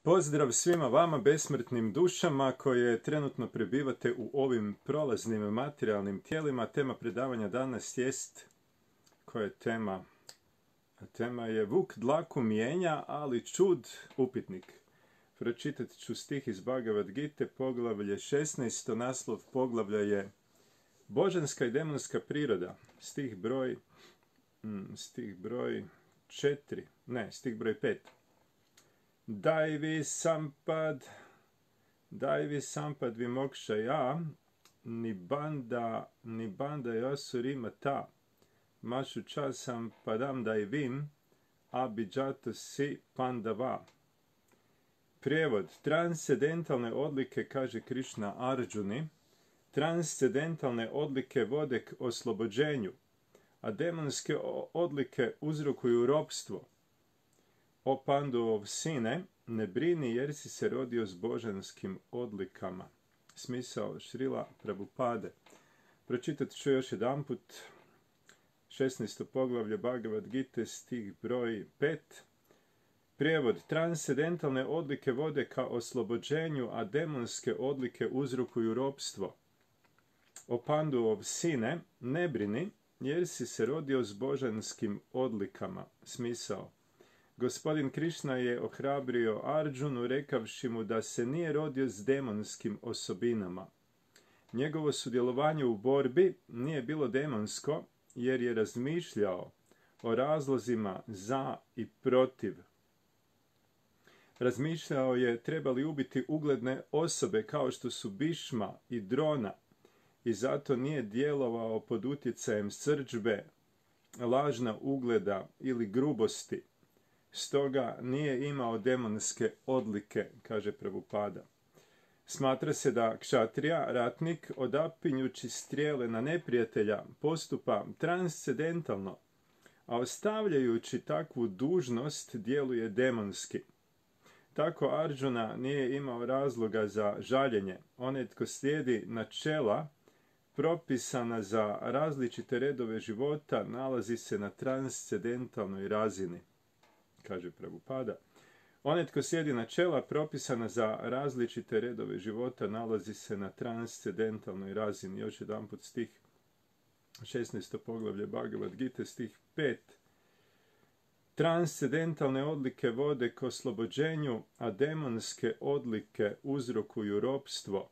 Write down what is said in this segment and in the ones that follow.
Pozdrav svima vama, besmrtnim dušama koje trenutno prebivate u ovim prolaznim materijalnim tijelima. Tema predavanja danas jest, koja je tema? Tema je Vuk dlaku mijenja, ali čud upitnik. Pročitat ću stih iz Bhagavad Gite, poglavlje 16. Naslov poglavlja je Božanska i demonska priroda. Stih broj 5. Daivi sampad vimokshaya nibanda yasurima mašu časam padam daivim abhijato si pandava. Prijevod: transcendentalne odlike, kaže Krišna Arjuni, transcendentalne odlike vode k oslobođenju, a demonske odlike uzrokuju ropstvo. O Panduov sine, ne brini jer si se rodio s božanskim odlikama. Smisao Šrila Prabhupade. Pročitat ću još jedanput 16. poglavlje Bhagavad Gite, stih broj 5. Prijevod: transcendentalne odlike vode ka oslobođenju, a demonske odlike uzrokuju ropstvo. O Panduov sine, ne brini jer si se rodio s božanskim odlikama. Smisao: Gospodin Krišna je ohrabrio Arjunu rekavši mu da se nije rodio s demonskim osobinama. Njegovo sudjelovanje u borbi nije bilo demonsko jer je razmišljao o razlozima za i protiv. Razmišljao je treba li ubiti ugledne osobe kao što su Bišma i Drona i zato nije djelovao pod utjecajem srdžbe, lažna ugleda ili grubosti. Stoga nije imao demonske odlike, kaže Prabhupada. Smatra se da kšatrija, ratnik, odapinjući strijele na neprijatelja, postupa transcendentalno, a ostavljajući takvu dužnost djeluje demonski. Tako Arjuna nije imao razloga za žaljenje. Onaj tko slijedi načela propisana za različite redove života nalazi se na transcendentalnoj razini, kaže Prabhupada. Onaj tko slijedi načela propisana za različite redove života nalazi se na transcendentalnoj razini. Još jedanput stih 16. poglavlje Bhagavad Gite, stih 5. Transcendentalne odlike vode k oslobođenju, a demonske odlike uzrokuju ropstvo.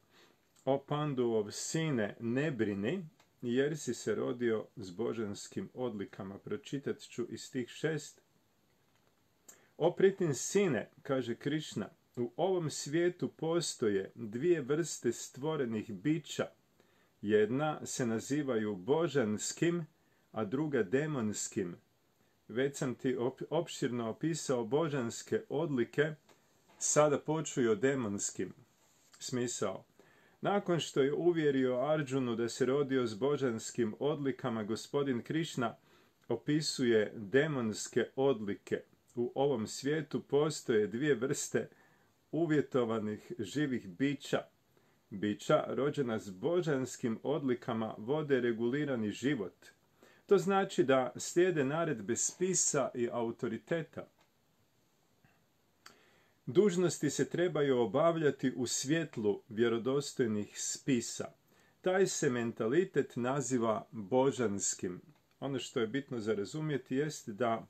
O Panduov sine, ne brini jer si se rodio s božanskim odlikama. Pročitat ću i stih 6. O pritin sine, kaže Krišna, u ovom svijetu postoje dvije vrste stvorenih bića. Jedna se nazivaju božanskim, a druga demonskim. Već sam ti opširno opisao božanske odlike, sada počuj o demonskim. Smisao: nakon što je uvjerio Arjunu da se rodio s božanskim odlikama, gospodin Krišna opisuje demonske odlike. U ovom svijetu postoje dvije vrste uvjetovanih živih bića. Bića rođena s božanskim odlikama vode regulirani život. To znači da slijede naredbe spisa i autoriteta. Dužnosti se trebaju obavljati u svjetlu vjerodostojnih spisa. Taj se mentalitet naziva božanskim. Ono što je bitno za razumjeti jest da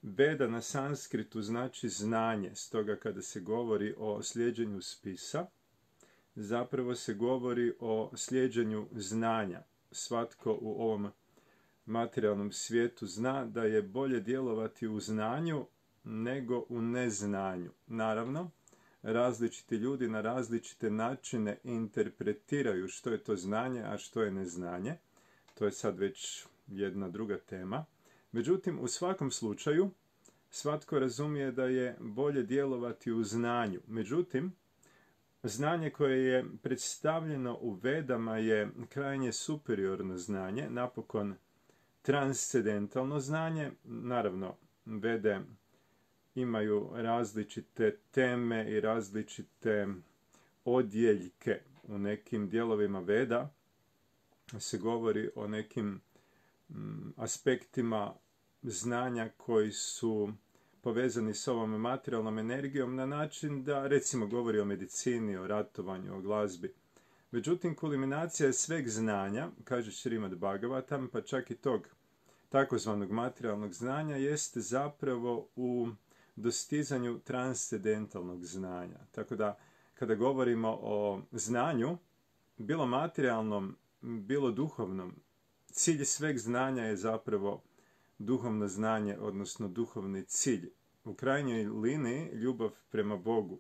Veda na sanskritu znači znanje, stoga kada se govori o slijeđenju spisa, zapravo se govori o slijeđenju znanja. Svatko u ovom materijalnom svijetu zna da je bolje djelovati u znanju nego u neznanju. Naravno, različiti ljudi na različite načine interpretiraju što je to znanje, a što je neznanje. To je sad već jedna druga tema. Međutim, u svakom slučaju, svatko razumije da je bolje djelovati u znanju. Međutim, znanje koje je predstavljeno u Vedama je krajnje superiorno znanje, napokon transcendentalno znanje. Naravno, Vede imaju različite teme i različite odjeljke. U nekim dijelovima Veda se govori o nekim aspektima znanja koji su povezani s ovom materijalnom energijom na način da, recimo, govori o medicini, o ratovanju, o glazbi. Međutim, kulminacija je sveg znanja, kaže Šrimad Bhagavatam, pa čak i tog takozvanog materijalnog znanja, jeste zapravo u dostizanju transcendentalnog znanja. Tako da, kada govorimo o znanju, bilo materijalnom, bilo duhovnom, cilj sveg znanja je zapravo duhovno znanje, odnosno duhovni cilj. U krajnjoj liniji ljubav prema Bogu,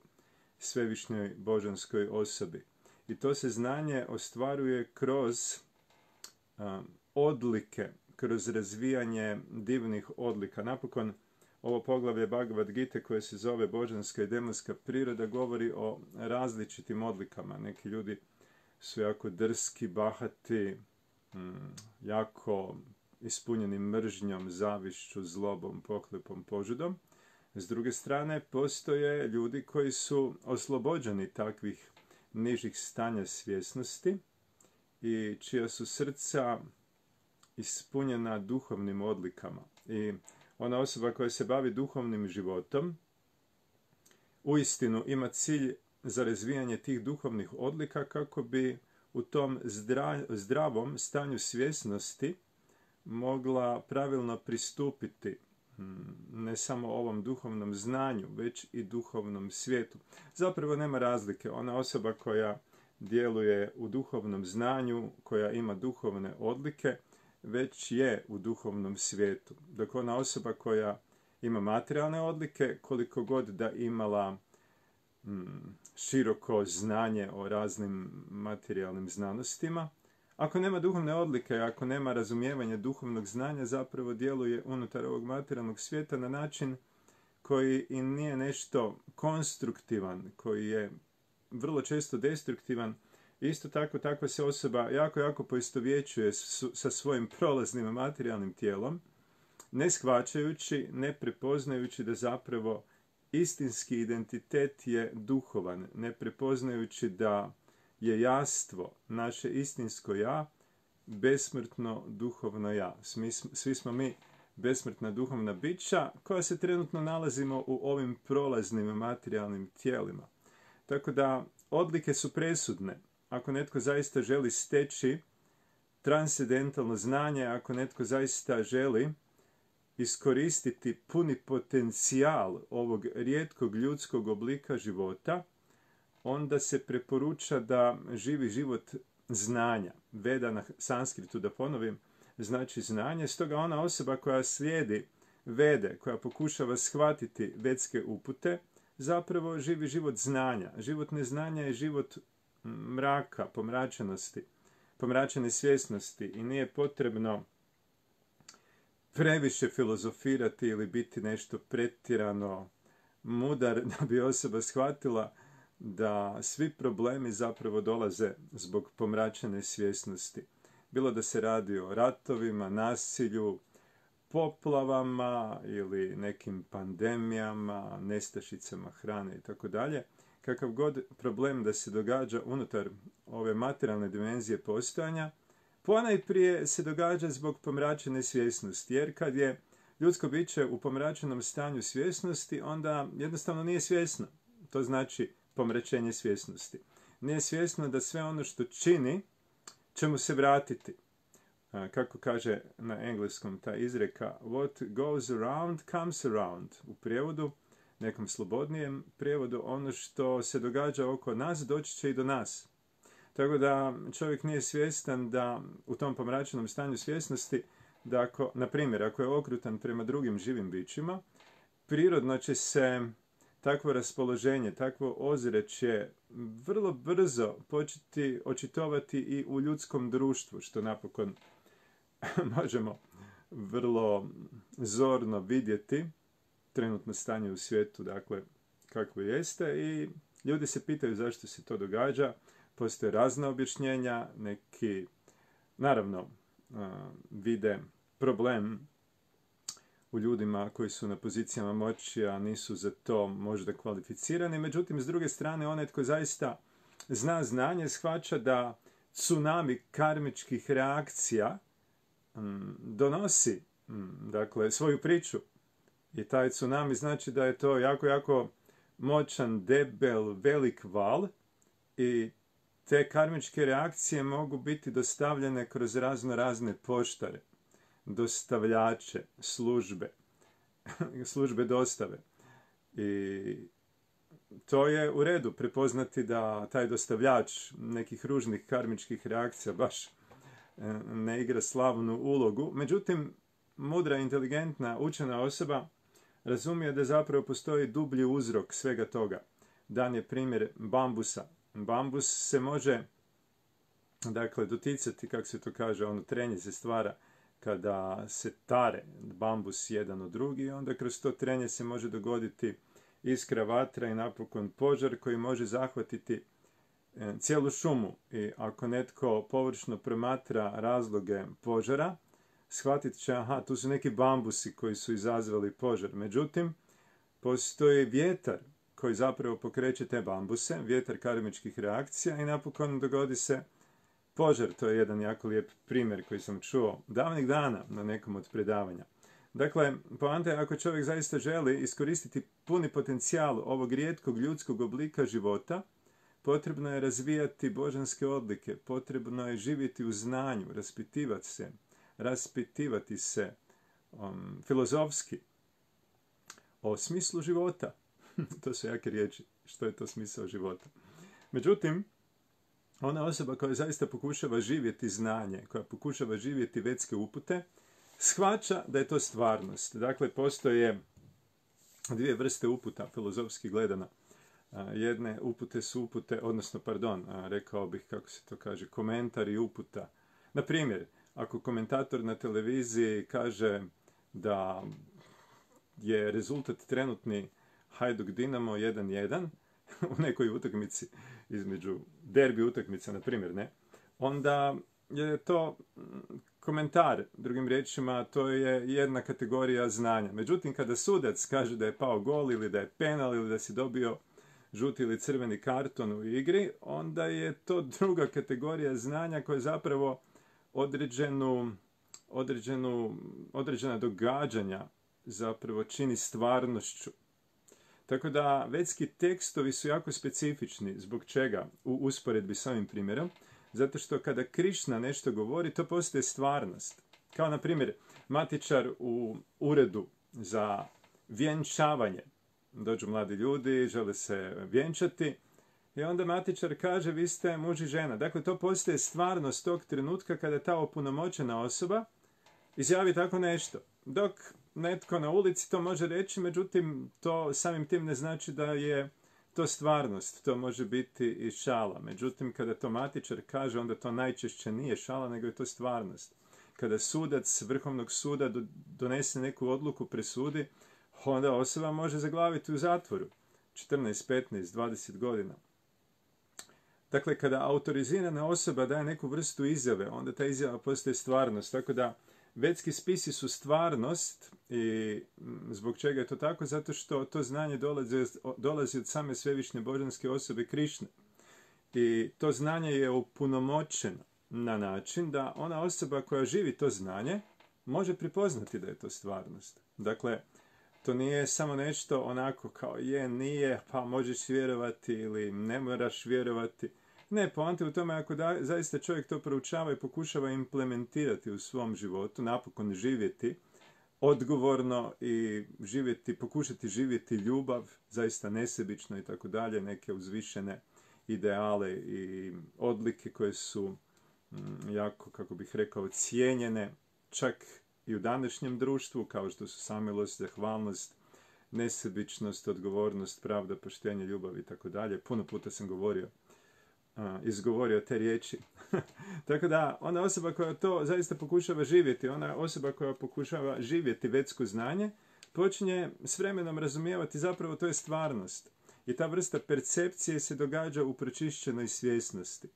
svevišnjoj božanskoj osobi. I to se znanje ostvaruje kroz odlike, kroz razvijanje divnih odlika. Napokon, ovo poglavlje Bhagavad Gite koje se zove Božanska i demonska priroda govori o različitim odlikama. Neki ljudi su jako drski, bahati, jako ispunjeni mržnjom, zavišću, zlobom, pohlepom, požudom. S druge strane, postoje ljudi koji su oslobođeni takvih nižih stanja svjesnosti i čija su srca ispunjena duhovnim odlikama. I ona osoba koja se bavi duhovnim životom uistinu ima cilj za razvijanje tih duhovnih odlika kako bi u tom zdravom stanju svjesnosti mogla pravilno pristupiti ne samo ovom duhovnom znanju, već i duhovnom svijetu. Zapravo nema razlike. Ona osoba koja djeluje u duhovnom znanju, koja ima duhovne odlike, već je u duhovnom svijetu. Dok ona osoba koja ima materijalne odlike, koliko god da imala široko znanje o raznim materijalnim znanostima, ako nema duhovne odlike, ako nema razumijevanja duhovnog znanja, zapravo djeluje unutar ovog materijalnog svijeta na način koji i nije nešto konstruktivan, koji je vrlo često destruktivan. Isto tako, takva se osoba jako poistovjećuje sa svojim prolaznim materijalnim tijelom, ne shvaćajući, ne prepoznajući da zapravo istinski identitet je duhovan, ne prepoznajući da je jastvo, naše istinsko ja, besmrtno duhovno ja. Svi smo mi besmrtna duhovna bića koja se trenutno nalazimo u ovim prolaznim materijalnim tijelima. Tako da odlike su presudne. Ako netko zaista želi steći transcendentalno znanje, ako netko zaista želi iskoristiti puni potencijal ovog rijetkog ljudskog oblika života, onda se preporuča da živi život znanja. Veda na sanskritu, da ponovim, znači znanje. Stoga ona osoba koja slijedi vede, koja pokušava shvatiti vedske upute, zapravo živi život znanja. Život neznanja je život mraka, pomračenosti, pomračene svjesnosti i nije potrebno previše filozofirati ili biti nešto pretjerano mudar da bi osoba shvatila da svi problemi zapravo dolaze zbog pomračene svjesnosti. Bilo da se radi o ratovima, nasilju, poplavama ili nekim pandemijama, nestašicama hrane i tako dalje. Kakav god problem da se događa unutar ove materijalne dimenzije postojanja, ponajprije se događa zbog pomračene svjesnosti, jer kad je ljudsko biće u pomračenom stanju svjesnosti, onda jednostavno nije svjesno. To znači pomračenje svjesnosti. Nije svjesno da sve ono što čini će mu se vratiti. Kako kaže na engleskom ta izreka, what goes around comes around. U prijevodu, nekom slobodnijem prijevodu, ono što se događa oko nas doći će i do nas. Tako da čovjek nije svjestan da u tom pomračenom stanju svjesnosti, da ako, na primjer, ako je okrutan prema drugim živim bićima, prirodno će se takvo raspoloženje, takvo ozračje vrlo brzo početi očitovati i u ljudskom društvu, što napokon možemo vrlo zorno vidjeti trenutno stanje u svijetu, dakle, kakvo jeste, i ljudi se pitaju zašto se to događa. Postoje razna objašnjenja, neki, naravno, vide problem u ljudima koji su na pozicijama moći, a nisu za to možda kvalificirani. Međutim, s druge strane, onaj tko zaista zna znanje, shvaća da tsunami karmičkih reakcija donosi, dakle, svoju priču. I taj tsunami znači da je to jako, jako moćan, debel, velik val i te karmičke reakcije mogu biti dostavljene kroz razne poštare, dostavljače, službe dostave. I to je u redu prepoznati da taj dostavljač nekih ružnih karmičkih reakcija baš ne igra slavnu ulogu. Međutim, mudra, inteligentna, učena osoba razumije da zapravo postoji dublji uzrok svega toga. Dan je primjer bambusa. Bambus se može, dakle, doticati, kako se to kaže, ono trenje se stvara kada se tare bambus jedan od drugi i onda kroz to trenje se može dogoditi iskra, vatra i napokon požar koji može zahvatiti cijelu šumu. I ako netko površno promatra razloge požara, shvatit će, aha, tu su neki bambusi koji su izazvali požar. Međutim, postoji vjetar koji zapravo pokreće te bambuse, vjetar karmičkih reakcija i napokon dogodi se požar. To je jedan jako lijep primjer koji sam čuo davnih dana na nekom od predavanja. Dakle, poanta je ako čovjek zaista želi iskoristiti puni potencijal ovog rijetkog ljudskog oblika života, potrebno je razvijati božanske odlike, potrebno je živjeti u znanju, raspitivati se filozofski o smislu života. To su jake riječi. Što je to smisao života? Međutim, ona osoba koja zaista pokušava živjeti znanje, koja pokušava živjeti vetske upute, shvaća da je to stvarnost. Dakle, postoje dvije vrste uputa, filozofski gledano. Jedne upute su rekao bih, kako se to kaže, komentar i uputa. Na primjer, ako komentator na televiziji kaže da je rezultat trenutni Hajduk Dinamo 1-1 u nekoj utakmici između derbi utakmica, na primjer, ne, onda je to komentar, drugim riječima, to je jedna kategorija znanja. Međutim, kada sudac kaže da je pao gol ili da je penal ili da si dobio žuti ili crveni karton u igri, onda je to druga kategorija znanja koja zapravo određena događanja zapravo čini stvarnošću. Tako da vetski tekstovi su jako specifični. Zbog čega? U usporedbi s ovim primjerom. Zato što kada Krišna nešto govori, to postaje stvarnost. Kao na primjer, matičar u uredu za vjenčavanje. Dođu mladi ljudi, žele se vjenčati i onda matičar kaže vi ste muž i žena. Dakle, to postaje stvarnost tog trenutka kada ta opunomoćena osoba izjavi tako nešto. Dok netko na ulici to može reći, međutim, to samim tim ne znači da je to stvarnost. To može biti i šala. Međutim, kada to matičar kaže, onda to najčešće nije šala, nego je to stvarnost. Kada sudac Vrhovnog suda donese neku odluku, presudi, onda osoba može zaglaviti u zatvoru 14, 15, 20 godina. Dakle, kada autorizirana osoba daje neku vrstu izjave, onda ta izjava postaje stvarnost. Tako da vetski spisi su stvarnost i zbog čega je to tako? Zato što to znanje dolazi od same svevišnje božanske osobe Krišne. I to znanje je opunomoćeno na način da ona osoba koja živi to znanje može prepoznati da je to stvarnost. Dakle, to nije samo nešto onako kao je, nije, pa možeš vjerovati ili ne moraš vjerovati. Ne, poanta u tome ako zaista čovjek to proučava i pokušava implementirati u svom životu, napokon živjeti odgovorno i pokušati živjeti ljubav, zaista nesebično i tako dalje, neke uzvišene ideale i odlike koje su jako, kako bih rekao, cijenjene čak i u današnjem društvu, kao što su samilost, zahvalnost, nesebičnost, odgovornost, pravda, poštenje, ljubav i tako dalje. Puno puta sam izgovorio te riječi. Tako da, ona osoba koja to zaista pokušava živjeti, ona osoba koja pokušava živjeti vetsko znanje, počinje s vremenom razumijevati zapravo to je stvarnost. I ta vrsta percepcije se događa u pročišćenoj svjesnosti.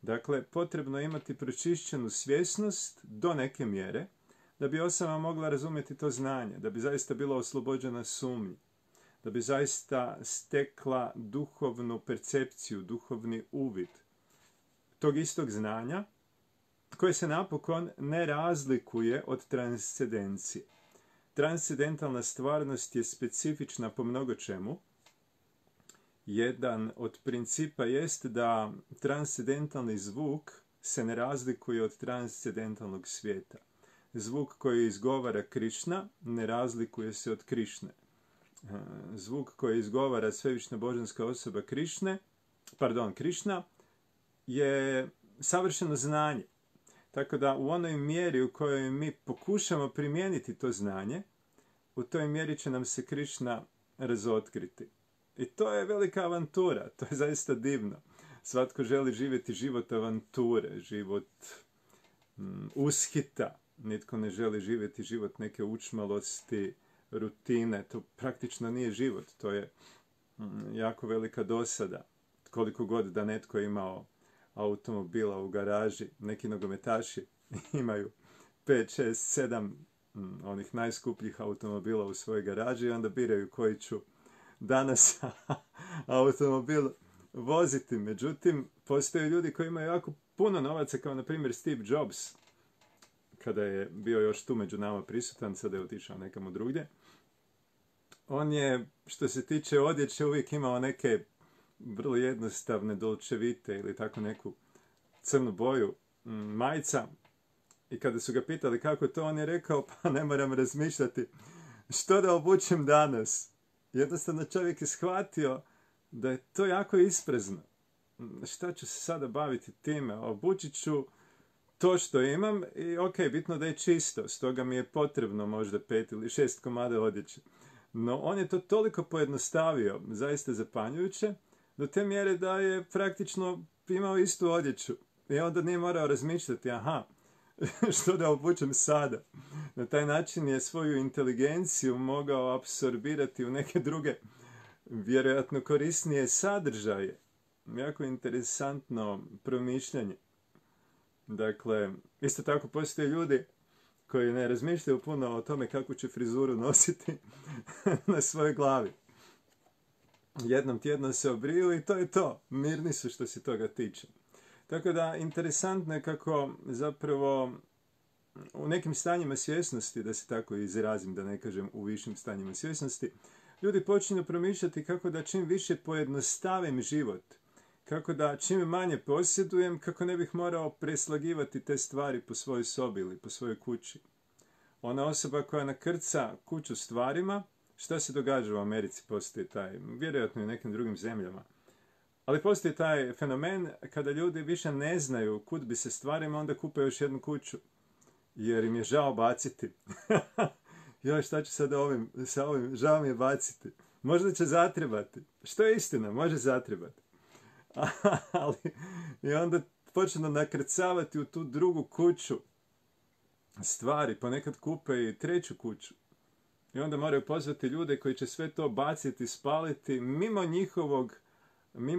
Dakle, potrebno je imati pročišćenu svjesnost do neke mjere, da bi osoba mogla razumjeti to znanje, da bi zaista bila oslobođena sumnji, da bi zaista stekla duhovnu percepciju, duhovni uvid tog istog znanja, koje se napokon ne razlikuje od transcendencije. transcendentalna stvarnost je specifična po mnogo čemu. Jedan od principa jest da transcendentalni zvuk se ne razlikuje od transcendentalnog svijeta. Zvuk koji izgovara Krišna ne razlikuje se od Krišne. Zvuk koji izgovara svevišnja božanska osoba Krišna je savršeno znanje. Tako da u onoj mjeri u kojoj mi pokušamo primijeniti to znanje, u toj mjeri će nam se Krišna razotkriti. I to je velika avantura, to je zaista divno. Svatko želi živjeti život avanture, život ushita. Nitko ne želi živjeti život neke učmalosti, rutine. To praktično nije život, to je jako velika dosada. Koliko god da netko imao automobila u garaži, neki nogometaši imaju 5, 6, 7 onih najskupljih automobila u svojoj garaži i onda biraju koji ću danas automobil voziti. Međutim, postoje ljudi koji imaju jako puno novaca, kao na primjer Steve Jobs, kada je bio još tu među nama prisutan, sada je otišao nekamo drugdje. On je, što se tiče odjeće, uvijek imao neke vrlo jednostavne dolčevite ili tako neku crnu boju majica. I kada su ga pitali kako to, on je rekao, pa ne moram razmišljati što da obučem danas. Jednostavno čovjek je shvatio da je to jako isprezno. Šta ću se sada baviti time? Obučit ću to što imam i ok, bitno da je čisto. Stoga mi je potrebno možda 5 ili 6 komada odjeće. No on je to toliko pojednostavio, zaista zapanjujuće, do te mjere da je praktično imao istu odjeću. I onda nije morao razmišljati, što da obučem sada. Na taj način je svoju inteligenciju mogao apsorbirati u neke druge, vjerojatno korisnije sadržaje. Jako interesantno promišljanje. Dakle, isto tako postoje ljudi koji ne razmišljaju puno o tome kako će frizuru nositi na svojoj glavi. Jednom tjedno se obriju i to je to. Mirni su što se toga tiče. Tako da, interesantno je kako zapravo u nekim stanjima svjesnosti, da se tako izrazim, da ne kažem u višim stanjima svjesnosti, ljudi počinju promišljati kako da čim više pojednostavim život, kako da čim manje posjedujem, kako ne bih morao preslagivati te stvari po svojoj sobi ili po svojoj kući. Ona osoba koja nakrca kuću stvarima, šta se događa u Americi, postoji taj, vjerojatno i u nekim drugim zemljama. Ali postoji taj fenomen kada ljudi više ne znaju kud bi se stvarima, onda kupe još jednu kuću. Jer im je žao baciti. Joj, šta ću sad sa ovim, žao mi je baciti. Možda će zatrebati. Što je istina, može zatrebati. Ali, i onda počnu nakrcavati u tu drugu kuću stvari, ponekad kupe i treću kuću. I onda moraju pozvati ljude koji će sve to baciti, spaliti mimo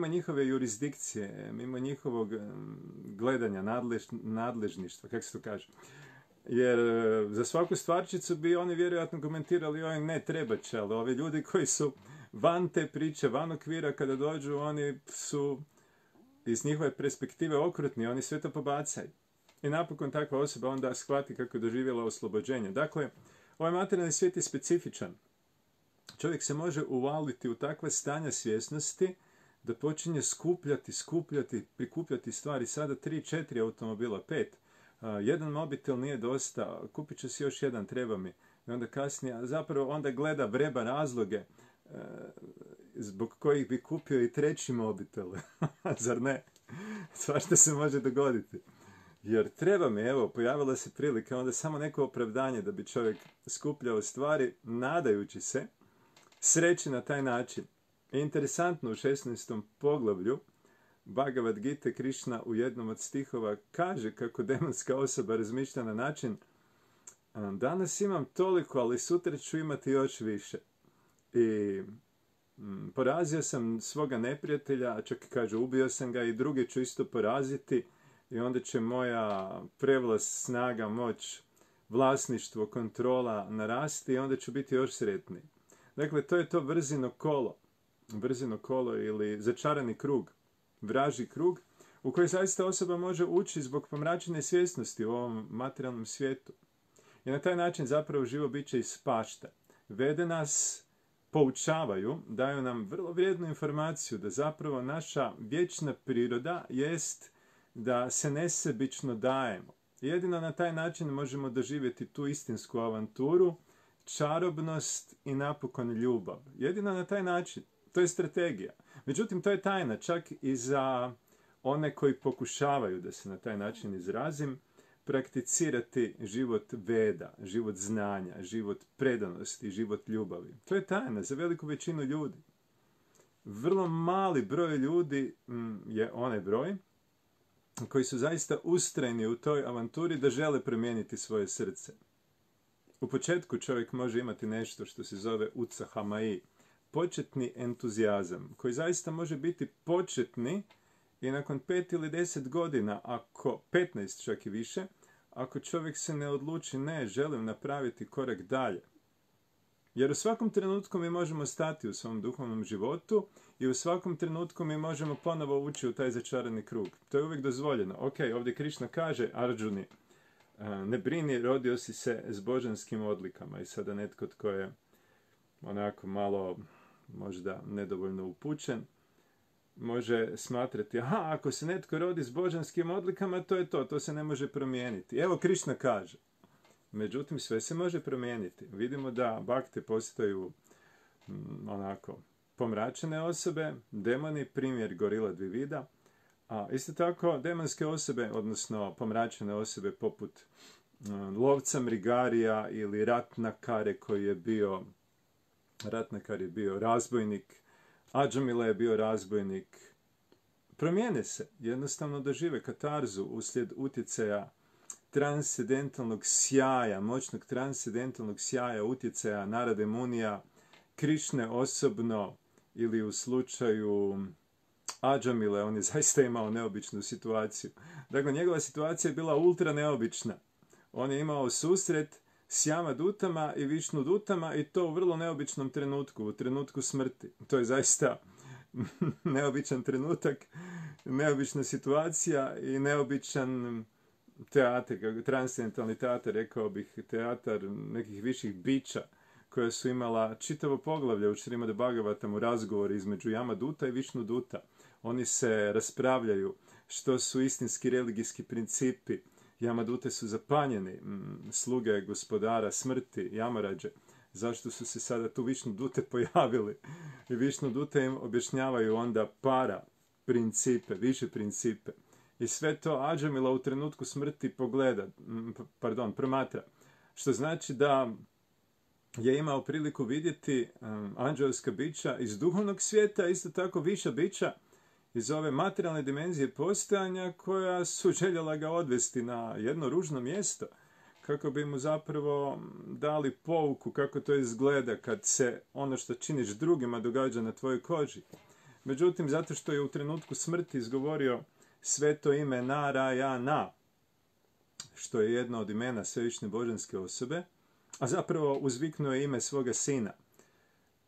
njihove jurisdikcije, mimo njihovog gledanja, nadležništva, kako se to kaže. Jer za svaku stvarčicu bi oni vjerojatno komentirali, oj ne, treba će, ali ovi ljudi koji su van te priče, van okvira, kada dođu, oni su iz njihove perspektive okrutni, oni sve to pobacaju. I napokon takva osoba onda shvati kako je doživjela oslobođenje. Dakle, ovaj materijalni svijet je specifičan. Čovjek se može uvaliti u takva stanja svjesnosti da počinje prikupljati stvari. Sada 3, 4 automobila, 5. Jedan mobitel nije dosta, kupit ću si još jedan, treba mi. I onda kasnije, zapravo onda gleda, vreba razloge zbog kojih bi kupio i treći mobitel. Zar ne? Svašta se može dogoditi. Jer treba mi, evo, pojavila se prilika, onda samo neko opravdanje da bi čovjek skupljao stvari, nadajući se sreći na taj način. I interesantno, u 16. poglavlju Bhagavad Gita Krišna u jednom od stihova kaže kako demonska osoba razmišlja na način: danas imam toliko, ali sutra ću imati još više. I porazio sam svoga neprijatelja, a čak i kaže ubio sam ga, i druge ću isto poraziti, i onda će moja prevlast, snaga, moć, vlasništvo, kontrola narasti i onda ću biti još sretniji. Dakle, to je to vrzino kolo ili začarani krug, vražji krug, u koji zaista osoba može ući zbog pomračene svjesnosti u ovom materijalnom svijetu. I na taj način zapravo živo biće ispašta. Vede nas, poučavaju, daju nam vrlo vrijednu informaciju da zapravo naša vječna priroda jest da se nesebično dajemo. Jedino na taj način možemo doživjeti tu istinsku avanturu, čarobnost i napokon ljubav. Jedino na taj način. To je strategija. Međutim, to je tajna čak i za one koji pokušavaju, da se na taj način izrazim, prakticirati život veda, život znanja, život predanosti, život ljubavi. To je tajna za veliku većinu ljudi. Vrlo mali broj ljudi je onaj broj koji su zaista ustrajni u toj avanturi da žele promijeniti svoje srce. U početku čovjek može imati nešto što se zove utsa hamai, početni entuzijazam, koji zaista može biti početni i nakon 5 ili 10 godina, ako 15 čak i više, ako čovjek se ne odluči, ne, želim napraviti korak dalje. Jer u svakom trenutku mi možemo stati u svom duhovnom životu i u svakom trenutku mi možemo ponovo ući u taj začarani krug. To je uvijek dozvoljeno. Ok, ovdje Krišna kaže Arjuni, ne brini, rodio si se s božanskim odlikama. I sada netko tko je onako malo možda nedovoljno upućen, može smatrati, aha, ako se netko rodi s božanskim odlikama, to je to se ne može promijeniti. Evo Krišna kaže. Međutim, sve se može promijeniti. Vidimo da bakte postaju onako pomračene osobe, demoni, primjer Gorila Dvivida, a isto tako demonske osobe, odnosno pomračene osobe poput lovca Mrigarija ili Ratnakare koji je bio, Ratnakar je bio razbojnik, Adžamila je bio razbojnik. Promijene se, jednostavno dožive katarzu uslijed utjecaja transcendentalnog sjaja, moćnog transcendentalnog sjaja, utjecaja Narade Munija, Krišne osobno ili u slučaju Adžamile, on je zaista imao neobičnu situaciju. Dakle, njegova situacija je bila ultra neobična. On je imao susret s Jamadutama i Višnudutama i to u vrlo neobičnom trenutku, u trenutku smrti. To je zaista neobičan trenutak, neobična situacija i neobičan teatar, transcendentalni teatar, rekao bih, teatar nekih viših bića koja su imala čitavo poglavlje u Šrimad Bhagavatamu, razgovor između Jamaduta i Višnuduta. Oni se raspravljaju što su istinski religijski principi. Jamadute su zapanjeni, sluge gospodara smrti, Jamarađe. Zašto su se sada tu Višnudute pojavili? I Višnudute im objašnjavaju onda para principe, više principe. I sve to Adžamila u trenutku smrti promatra. Što znači da je imao priliku vidjeti anđelska bića iz duhovnog svijeta, isto tako viša bića iz ove materijalne dimenzije postojanja koja su željela ga odvesti na jedno ružno mjesto kako bi mu zapravo dali pouku kako to izgleda kad se ono što činiš drugima događa na tvojoj koži. Međutim, zato što je u trenutku smrti izgovorio sveto ime Narayana, što je jedno od imena svevišnje božanske osobe, a zapravo uzviknuo je ime svoga sina.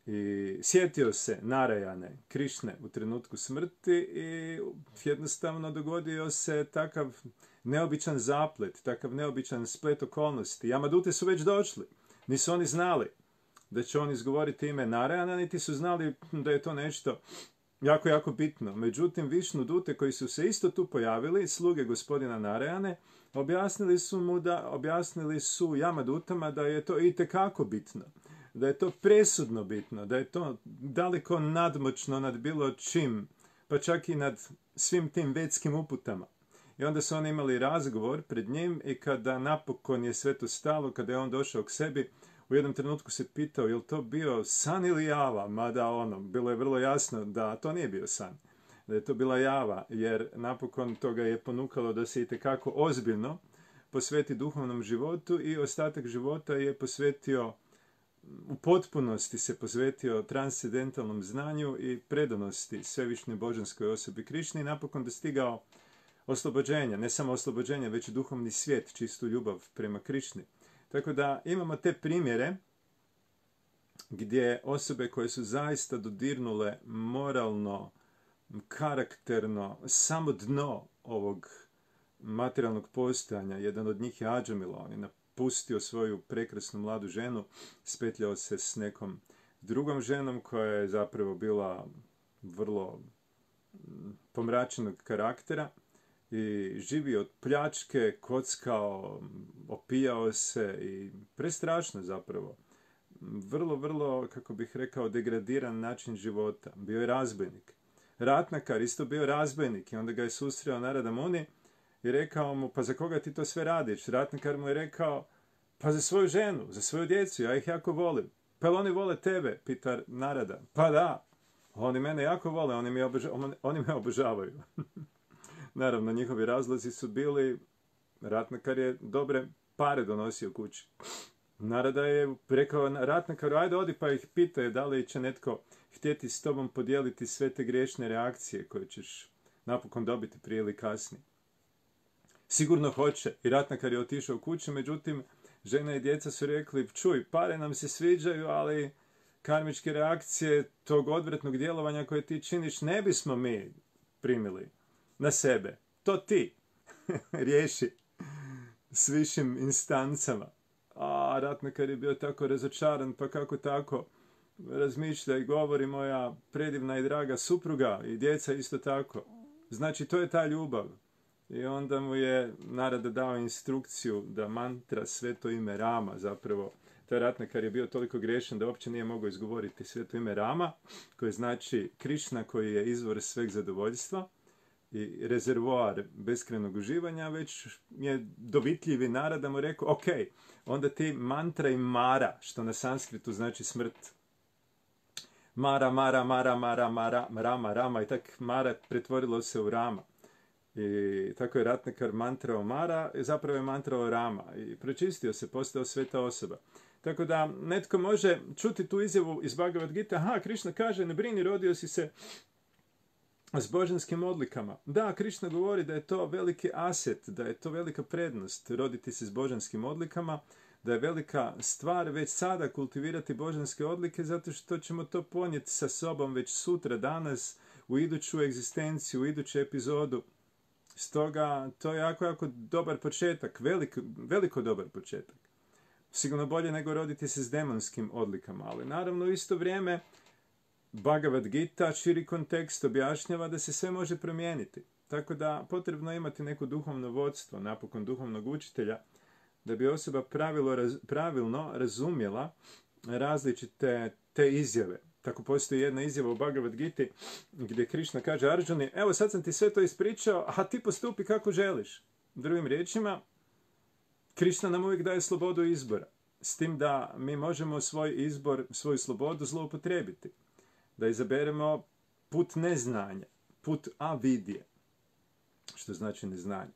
I sjetio se Narayane, Krišne, u trenutku smrti i jednostavno dogodio se takav neobičan zaplet, takav neobičan splet okolnosti. Jamadute su već došli. Nisu oni znali da će on izgovoriti ime Narayana, niti su znali da je to nešto jako, jako bitno. Međutim, Višnudute koji su se isto tu pojavili, sluge gospodina Narayane, objasnili su Jamadutama da je to itekako bitno, da je to presudno bitno, da je to daleko nadmoćno nad bilo čim, pa čak i nad svim tim vetskim uputama. I onda su oni imali razgovor pred njim i kada napokon je sve to stalo, kada je on došao k sebi, u jednom trenutku se pitao je li to bio san ili java, mada bilo je vrlo jasno da to nije bio san, da je to bila java, jer napokon toga je ponukalo da se itekako ozbiljno posveti duhovnom životu i ostatak života je posvetio, u potpunosti se posvetio transcendentalnom znanju i predanosti svevišnjoj božanskoj osobi Krišni i napokon dostigao oslobođenja, ne samo oslobođenja, već i duhovni svijet, čistu ljubav prema Krišni. Tako da imamo te primjere gdje osobe koje su zaista dodirnule moralno, karakterno, samo dno ovog materijalnog postojanja, jedan od njih je Adžamila, on je pustio svoju prekrasnu mladu ženu, spetljao se s nekom drugom ženom koja je zapravo bila vrlo pomračenog karaktera i živio od pljačke, kockao, opijao se i prestrašno zapravo. Vrlo, vrlo, kako bih rekao, degradiran način života. Bio je razbojnik. Ratnakar isto bio razbojnik i onda ga je susreo Narada Muni i rekao mu, pa za koga ti to sve radiš? Ratnakar mu je rekao, pa za svoju ženu, za svoju djecu, ja ih jako volim. Pa oni vole tebe, pita Narada. Pa da, oni mene jako vole, oni me obožavaju. Naravno, njihovi razlozi su bili, Ratnakar je dobre pare donosio kući. Narada je rekao Ratnakaru, ajde odi pa ih pitaj da li će netko htjeti s tobom podijeliti sve te griješne reakcije koje ćeš napokon dobiti prije ili kasnije. Sigurno hoće. I Ratnakar je otišao kući, međutim, žena i djeca su rekli, čuj, pare nam se sviđaju, ali karmičke reakcije tog odvratnog djelovanja koje ti činiš ne bismo mi primili na sebe. To ti riješi s višim instancama. A Ratnakar je bio tako razočaran, pa kako tako razmišlja i govori moja predivna i draga supruga i djeca isto tako. Znači, to je ta ljubav. I onda mu je Narada dao instrukciju da mantra sveto ime Rama, zapravo taj Ratnakar je bio toliko grešan da uopće nije mogao izgovoriti sveto ime Rama, koje znači Krišna koji je izvor sveg zadovoljstva i rezervoar beskrajnog uživanja, već je dovitljivi Narada mu rekao, ok, onda ti mantra i Mara, što na sanskritu znači smrt. Mara, Mara, Mara, Mara, Mara, Rama, Rama i tak Mara pretvorilo se u Rama. I tako je Ratnakar mantrao Mara i zapravo je mantrao Rama i pročistio se, postao sveta osoba. Tako da netko može čuti tu izjavu iz Bhagavad Gita, aha, Krišna kaže, ne brini, rodio si se s božanskim odlikama. Da, Krišna govori da je to veliki aset, da je to velika prednost roditi se s božanskim odlikama, da je velika stvar već sada kultivirati božanske odlike, zato što ćemo to ponijeti sa sobom već sutra, danas, u iduću egzistenciju, u iduću epizodu. Stoga, to je jako, jako dobar početak, veliko dobar početak. Sigurno bolje nego roditi se s demonskim odlikama, ali naravno u isto vrijeme Bhagavad Gita, širi kontekst, objašnjava da se sve može promijeniti. Tako da potrebno imati neko duhovno vodstvo, napokon duhovnog učitelja, da bi osoba pravilno razumjela različite te izjave. Tako postoji jedna izjava u Bhagavad Giti gdje Krišna kaže Arjuni, evo sad sam ti sve to ispričao, a ti postupi kako želiš. Drugim riječima, Krišna nam uvijek daje slobodu izbora. S tim da mi možemo svoj izbor, svoju slobodu zloupotrijebiti. Da izaberemo put neznanja, put avidije, što znači neznanje.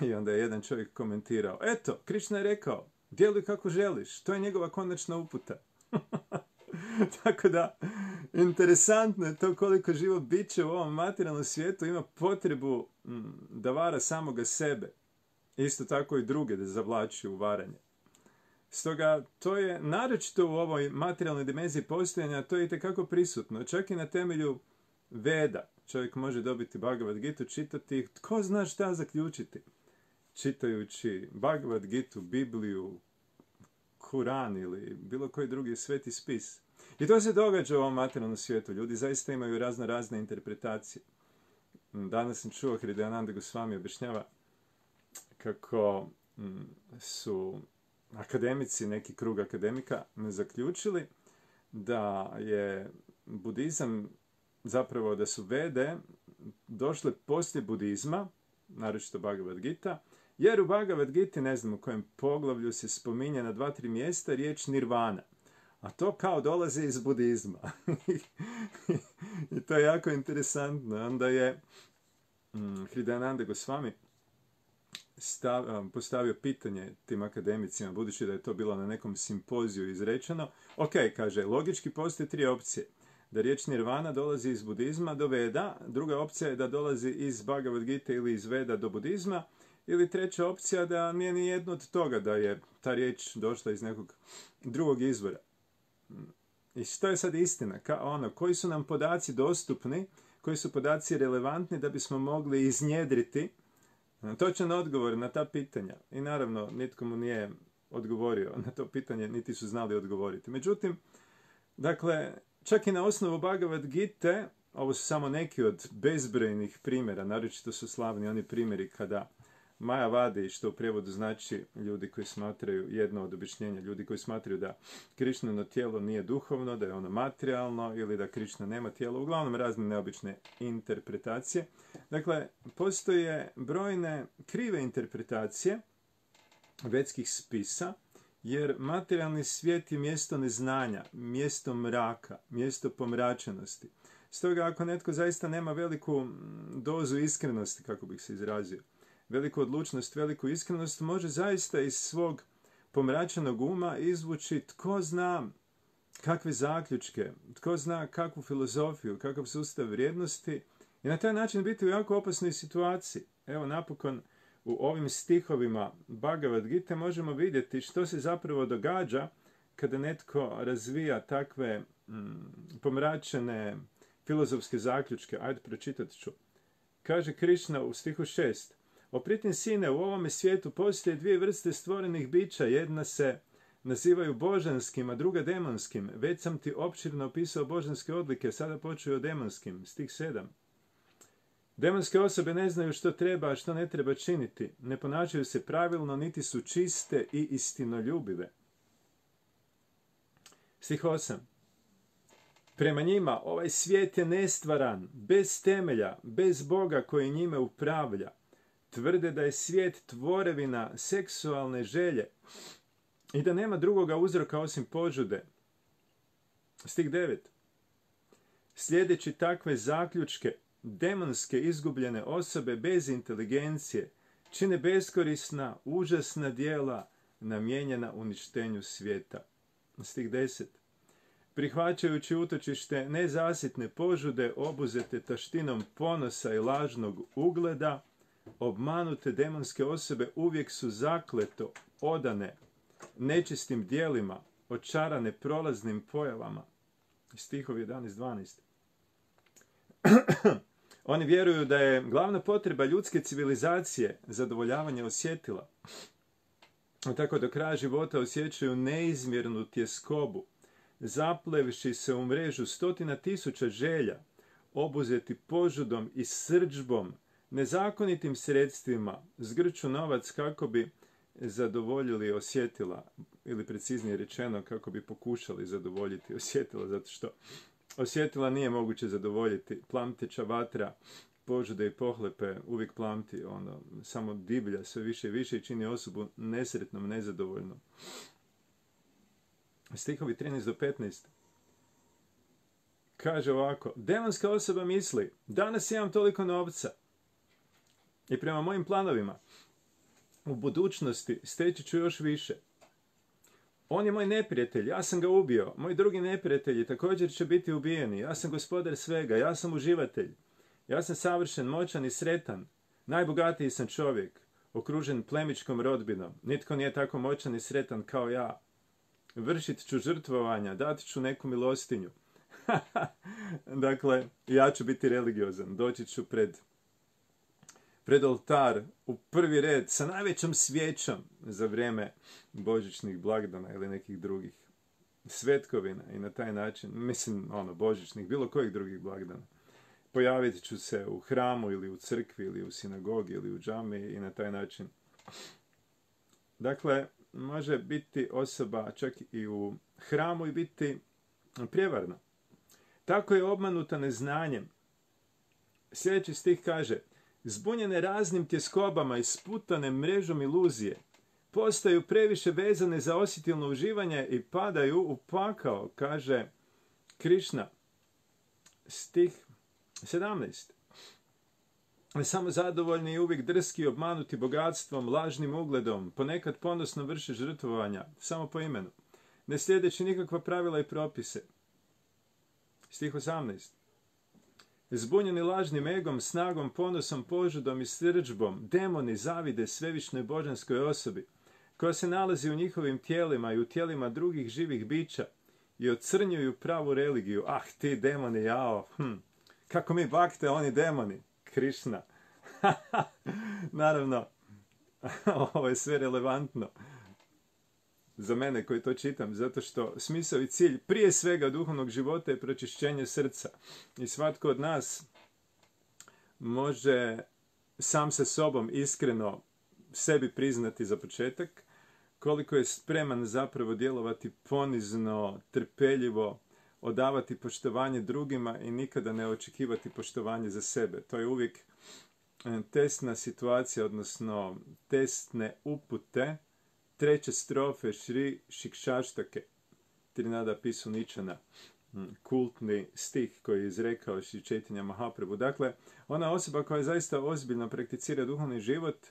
I onda je jedan čovjek komentirao, eto, Krišna je rekao, djeluj kako želiš, to je njegova konačna uputa. Tako da, interesantno je to koliko živo biće u ovom materijalnom svijetu ima potrebu da vara samoga sebe. Isto tako i druge da zavlači u varanje. Stoga, to je naročito u ovoj materijalnoj dimenziji postojanja, to je itekako prisutno. Čak i na temelju Veda čovjek može dobiti Bhagavad Gitu, čitati, tko zna šta zaključiti. Čitajući Bhagavad Gitu, Bibliju, Kuran ili bilo koji drugi sveti spis. I to se događa u ovom materijalnom svijetu. Ljudi zaista imaju razne interpretacije. Danas sam čuo Hridayananda Goswami objašnjava kako su akademici, neki krug akademika, zaključili da je budizam, zapravo da su Vede došle poslije budizma, naročito Bhagavad Gita, jer u Bhagavad Giti, ne znam u kojem poglavlju, se spominje na 2-3 mjesta riječ nirvana. A to kao dolazi iz budizma. I to je jako interesantno. Onda je Hridayananda Goswami postavio pitanje tim akademicima, budući da je to bilo na nekom simpoziju izrečeno. Ok, kaže, logički postoje 3 opcije. Da riječ nirvana dolazi iz budizma do Veda, druga opcija je da dolazi iz Bhagavad Gita ili iz Veda do budizma, ili treća opcija da nije ni jedno od toga, da je ta riječ došla iz nekog drugog izvora. I što je sad istina? Koji su nam podaci dostupni, koji su podaci relevantni da bismo mogli iznjedriti Točan odgovor na ta pitanja. I naravno, nitko mu nije odgovorio na to pitanje, niti su znali odgovoriti. Međutim, dakle, čak i na osnovu Bhagavad Gite, ovo su samo neki od bezbrojnih primjera, naročito su slavni oni primjeri kada Majavadi, što u prijevodu znači ljudi koji smatraju, jedno od objašnjenja, ljudi koji smatraju da Krišnino tijelo nije duhovno, da je ono materijalno ili da Krišna nema tijelo, uglavnom razne neobične interpretacije. Dakle, postoje brojne krive interpretacije vedskih spisa, jer materijalni svijet je mjesto neznanja, mjesto mraka, mjesto pomračenosti. Stoga ako netko zaista nema veliku dozu iskrenosti, kako bih se izrazio, veliku odlučnost, veliku iskrenost, može zaista iz svog pomračenog uma izvući tko zna kakve zaključke, tko zna kakvu filozofiju, kakav sustav vrijednosti i na taj način biti u jako opasnoj situaciji. Evo napokon u ovim stihovima Bhagavad Gite možemo vidjeti što se zapravo događa kada netko razvija takve pomračene filozofske zaključke. Ajde, pročitat ću. Kaže Krišna u stihu 6. Opritim sine, u ovome svijetu postoje dvije vrste stvorenih bića. Jedna se nazivaju božanskim, a druga demonskim. Već sam ti opširno opisao božanske odlike, sada počuju o demonskim. Stih 7. Demonske osobe ne znaju što treba, a što ne treba činiti. Ne ponašaju se pravilno, niti su čiste i istinoljubive. Stih 8. Prema njima ovaj svijet je nestvaran, bez temelja, bez Boga koji njime upravlja. Tvrde da je svijet tvorevina seksualne želje i da nema drugoga uzroka osim požude. Stih 9. Slijedeći takve zaključke, demonske izgubljene osobe bez inteligencije čine beskorisna, užasna djela namijenjena uništenju svijeta. Stih 10. Prihvaćajući utočište nezasitne požude obuzete taštinom ponosa i lažnog ugleda, obmanute demonske osobe uvijek su zakleto odane nečistim djelima, očarane prolaznim pojavama. Stihovi 11-12. Oni vjeruju da je glavna potreba ljudske civilizacije zadovoljavanje osjetila. Tako do kraja života osjećaju neizmjernu tjeskobu, zaplevši se u mrežu 100.000 želja, obuzeti požudom i srdžbom, nezakonitim sredstvima, zgrču novac kako bi zadovoljili osjetila, ili preciznije rečeno kako bi pokušali zadovoljiti osjetila, zato što osjetila nije moguće zadovoljiti. Plamteća vatra, požude i pohlepe uvijek plamti, samo divlja sve više i više i čini osobu nesretnom, nezadovoljnom. Stihovi 13-15. Kaže ovako, demonska osoba misli, danas imam toliko novca i prema mojim planovima u budućnosti steći ću još više. On je moj neprijatelj, ja sam ga ubio, moji drugi neprijatelji također će biti ubijeni, ja sam gospodar svega, ja sam uživatelj, ja sam savršen, moćan i sretan, najbogatiji sam čovjek, okružen plemičkom rodbinom, nitko nije tako moćan i sretan kao ja. Vršit ću žrtvovanja, dat ću neku milostinju. Dakle, ja ću biti religiozan, doći ću pred oltar u prvi red sa najvećom svijećom za vrijeme božićnih blagdana ili nekih drugih svetkovina i na taj način, božićnih, bilo kojih drugih blagdana. Pojavit ću se u hramu ili u crkvi ili u sinagogi ili u džami i na taj način. Dakle, može biti osoba čak i u hramu i biti prijevarna. Tako je obmanuta neznanjem. Sljedeći stih kaže, zbunjene raznim tjeskobama i sputane mrežom iluzije, postaju previše vezane za osjetilno uživanje i padaju u pakao, kaže Krišna. Stih 17. Samo zadovoljni i uvijek drski, obmanuti bogatstvom, lažnim ugledom, ponekad ponosno vrše žrtvovanja, samo po imenu, ne slijedeći nikakva pravila i propise. Stih 18. Zbunjeni lažnim egom, snagom, ponosom, požudom i srdžbom, demoni zavide svevišnjoj božanskoj osobi, koja se nalazi u njihovim tijelima i u tijelima drugih živih bića i ocrnjuju pravu religiju. Ah, ti demoni, jao, kako mi bakte, oni demoni, Krišna. Naravno, ovo je sve relevantno za mene koji to čitam, zato što smisao i cilj prije svega duhovnog života je pročišćenje srca. I svatko od nas može sam sa sobom iskreno sebi priznati za početak koliko je spreman zapravo djelovati ponizno, trpeljivo, odavati poštovanje drugima i nikada ne očekivati poštovanje za sebe. To je uvijek testna situacija, odnosno testne upute treće strofe Šri Šikšaštake, Trinada Pisuničana, kultni stih koji je izrekao Šri Čejtanja Mahaprabhu. Dakle, ona osoba koja zaista ozbiljno prakticira duhovni život,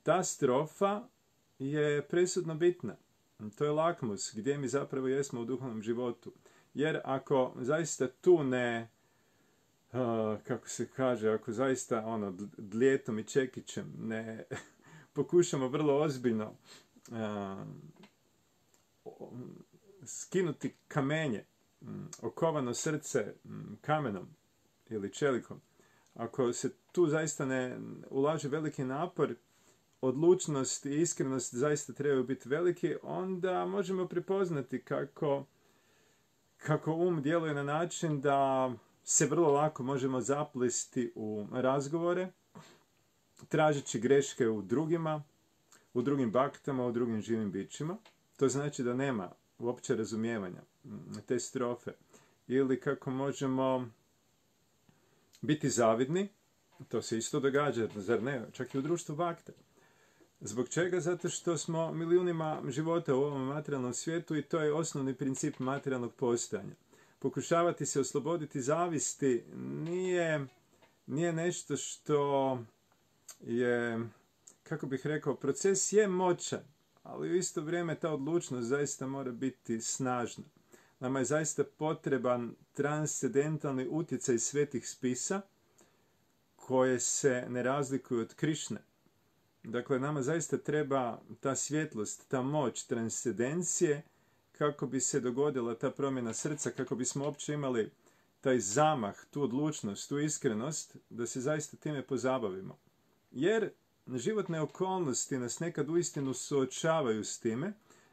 ta strofa je presudno bitna. To je lakmus gdje mi zapravo jesmo u duhovnom životu. Jer ako zaista tu ne, kako se kaže, ako zaista dlijetom i čekićem ne pokušamo vrlo ozbiljno skinuti kamenje, okovano srce kamenom ili čelikom, ako se tu zaista ne ulaže veliki napor, odlučnost i iskrenost zaista trebaju biti veliki, onda možemo prepoznati kako djeluje na način da se vrlo lako možemo zaplesti u razgovore, tražeći greške u drugima, u drugim baktama, u drugim živim bićima. To znači da nema uopće razumijevanja te strofe. Ili kako možemo biti zavidni, to se isto događa, zar ne, čak i u društvu bakta. Zbog čega? Zato što smo milijunima života u ovom materijalnom svijetu i to je osnovni princip materijalnog postojanja. Pokušavati se osloboditi zavisti nije nešto što je, kako bih rekao, proces je moćan, ali u isto vrijeme ta odlučnost zaista mora biti snažna. Nama je zaista potreban transcendentalni utjecaj svetih spisa koje se ne razlikuju od Krišne. Dakle, nama zaista treba ta svjetlost, ta moć transcendencije kako bi se dogodila ta promjena srca, kako bismo uopće imali taj zamah, tu odlučnost, tu iskrenost, da se zaista time pozabavimo. Jer životne okolnosti nas nekad uistinu suočavaju s time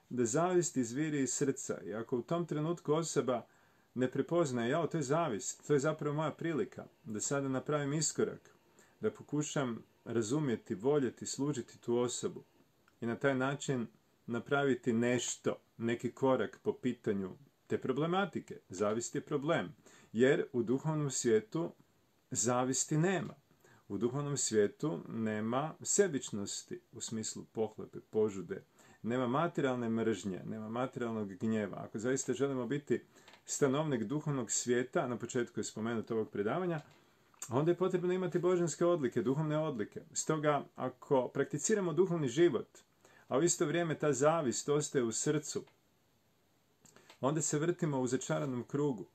da zavist izviri iz srca. I ako u tom trenutku osoba ne prepoznaje, to je zavist, to je zapravo moja prilika da sada napravim iskorak, da pokušam razumjeti, voljeti, služiti tu osobu i na taj način napraviti nešto, neki korak po pitanju te problematike. Zavist je problem, jer u duhovnom svijetu zavisti nema. U duhovnom svijetu nema sebičnosti u smislu pohlepe, požude, nema materijalne mržnje, nema materijalnog gnjeva. Ako zaista želimo biti stanovnik duhovnog svijeta, na početku je spomenuto ovog predavanja, onda je potrebno imati božanske odlike, duhovne odlike. Stoga, ako prakticiramo duhovni život, a u isto vrijeme ta zavist ostaje u srcu, onda se vrtimo u začaranom krugu.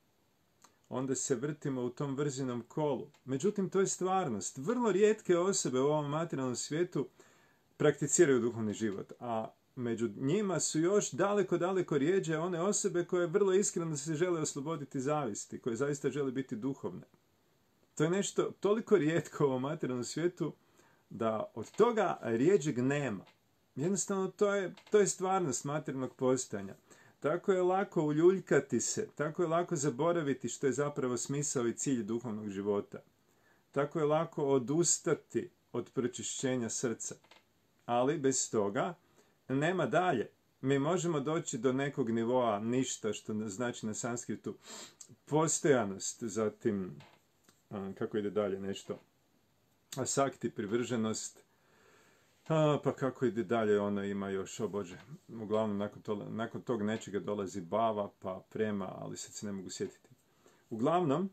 Onda se vrtimo u tom vrzinom kolu. Međutim, to je stvarnost. Vrlo rijetke osobe u ovom materijalnom svijetu prakticiraju duhovni život, a među njima su još daleko rijeđe one osobe koje vrlo iskreno se žele osloboditi zavisti, koje zaista žele biti duhovne. To je nešto toliko rijetko u ovom materijalnom svijetu da od toga rijeđeg nema. Jednostavno, to je stvarnost materijalnog postojanja. Tako je lako uljuljkati se, tako je lako zaboraviti što je zapravo smisao i cilj duhovnog života. Tako je lako odustati od pročišćenja srca. Ali bez toga nema dalje. Mi možemo doći do nekog nivoa ništa, što znači na sanskritu postojanost, zatim, kako ide dalje nešto, asakti, privrženost, pa kako ide dalje, ona ima još, o Bože, uglavnom nakon tog nečega dolazi bava, pa prema, ali sad se ne mogu sjetiti. Uglavnom,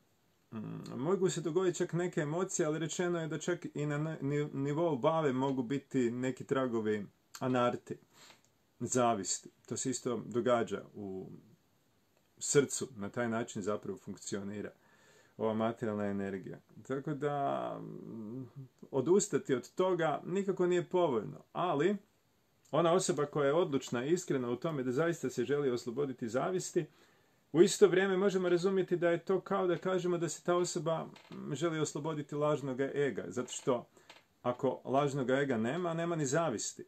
mogu se dogoditi čak neke emocije, ali rečeno je da čak i na nivou bave mogu biti neki tragovi anarti, zavisti. To se isto događa u srcu, na taj način zapravo funkcionira ova materijalna energija. Tako da odustati od toga nikako nije povoljno, ali ona osoba koja je odlučna i iskrena u tome da zaista se želi osloboditi zavisti, U isto vrijeme možemo razumjeti da je to kao da kažemo da se ta osoba želi osloboditi lažnog ega, zato što ako lažnog ega nema, nema ni zavisti.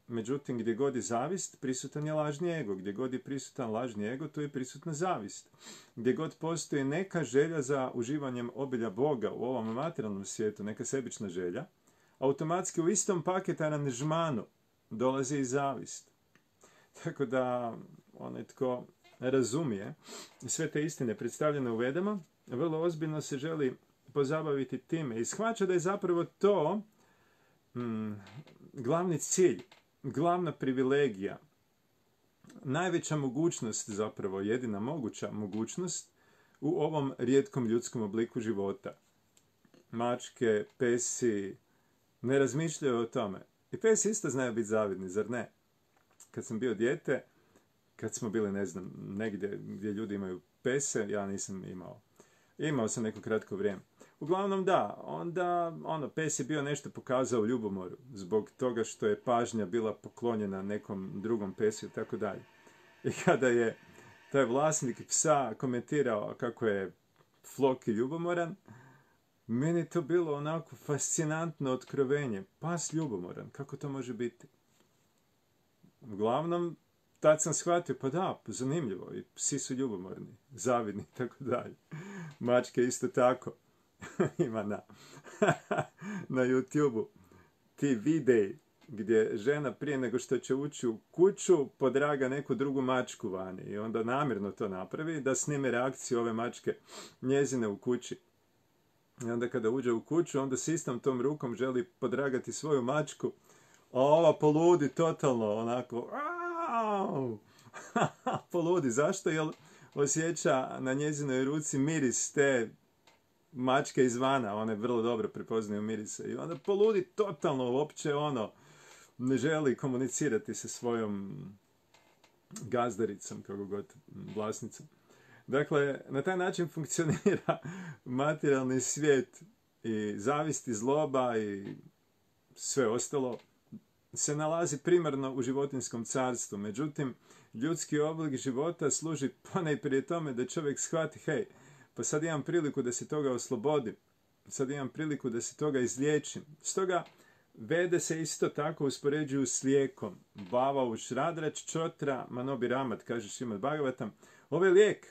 Međutim, gdje god je zavist, prisutan je lažni ego. Gdje god je prisutan lažni ego, tu je prisutna zavist. Gdje god postoji neka želja za uživanjem obilja Boga u ovom materijalnom svijetu, neka sebična želja, automatski u istom paket aranžmanu dolazi i zavist. Tako da onaj tko razumije sve te istine predstavljene u Vedama, vrlo ozbiljno se želi pozabaviti time i shvaća da je zapravo to glavni cilj, glavna privilegija, najveća mogućnost, zapravo jedina moguća mogućnost u ovom rijetkom ljudskom obliku života. Mačke, pesi ne razmišljaju o tome. I pesi isto znaju biti zavidni, zar ne? Kad sam bio dijete, kad smo bili, ne znam, negdje gdje ljudi imaju pese, ja nisam imao. Imao sam neko kratko vrijeme. Uglavnom da, onda pes je bio nešto pokazao u ljubomoru, zbog toga što je pažnja bila poklonjena nekom drugom pesu i tako dalje. I kada je taj vlasnik psa komentirao kako je Floki ljubomoran, meni je to bilo onako fascinantno otkrovenje. Pas ljubomoran, kako to može biti? Uglavnom, tad sam shvatio, pa da, zanimljivo, i psi su ljubomorni, zavidni i tako dalje. Mačke isto tako. Ima na YouTube-u ti videi gdje žena prije nego što će ući u kuću podraga neku drugu mačku vani i onda namjerno to napravi da snime reakciju ove mačke njezine u kući. I onda kada uđe u kuću, onda s istom tom rukom želi podragati svoju mačku, a ova poludi totalno, onako, poludi. Zašto? Jer osjeća na njezinoj ruci miris te mačke izvana, one vrlo dobro prepoznaju mirise. I onda poludi totalno, uopće ne želi komunicirati sa svojom gazdaricom, kako god, vlasnicom. Dakle, na taj način funkcionira materijalni svijet i zavist i zloba i sve ostalo se nalazi primarno u životinjskom carstvu. Međutim, ljudski oblik života služi ponajprije tome da čovjek shvati, hej, pa sad imam priliku da se toga oslobodim, sad imam priliku da se toga izliječim. Stoga Vede se isto tako uspoređuju s lijekom. Bava u šradrač čotra manobi ramat, kaže Šrimad Bhagavatam. Ovo je lijek.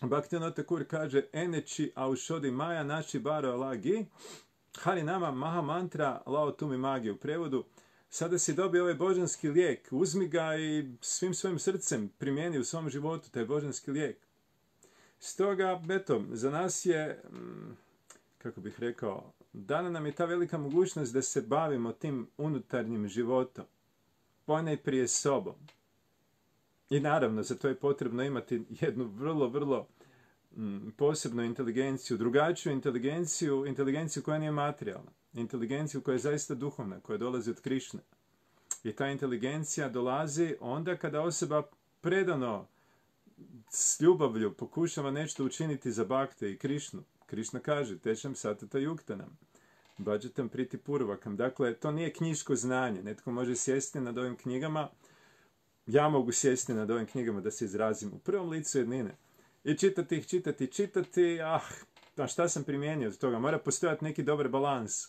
Bhaktivinoda Thakur kaže eneči aušodi maja naši baro lagi hari nama maha mantra lao tumi magi. U prevodu, sada si dobio ovaj božanski lijek, uzmi ga i svim svojim srcem primijeni u svom životu taj božanski lijek. Stoga, eto, za nas je, kako bih rekao, dana nam je ta velika mogućnost da se bavimo tim unutarnjim životom, ponajprije sobom. I naravno, za to je potrebno imati jednu vrlo, vrlo posebnu inteligenciju, drugačiju inteligenciju koja nije materijalna, inteligenciju koja je zaista duhovna, koja dolazi od Krišne. I ta inteligencija dolazi onda kada osoba predano s ljubavlju pokušava nešto učiniti za Bhakte i Krišnu. Krišna kaže, tešam satata yuktanam, bhajatam priti purvakam. Dakle, to nije knjiško znanje. Netko može sjesti nad ovim knjigama, ja mogu sjesti nad ovim knjigama da se izrazim u prvom licu jednine. I čitati, a šta sam primijenio od toga? Mora postojati neki dobar balans,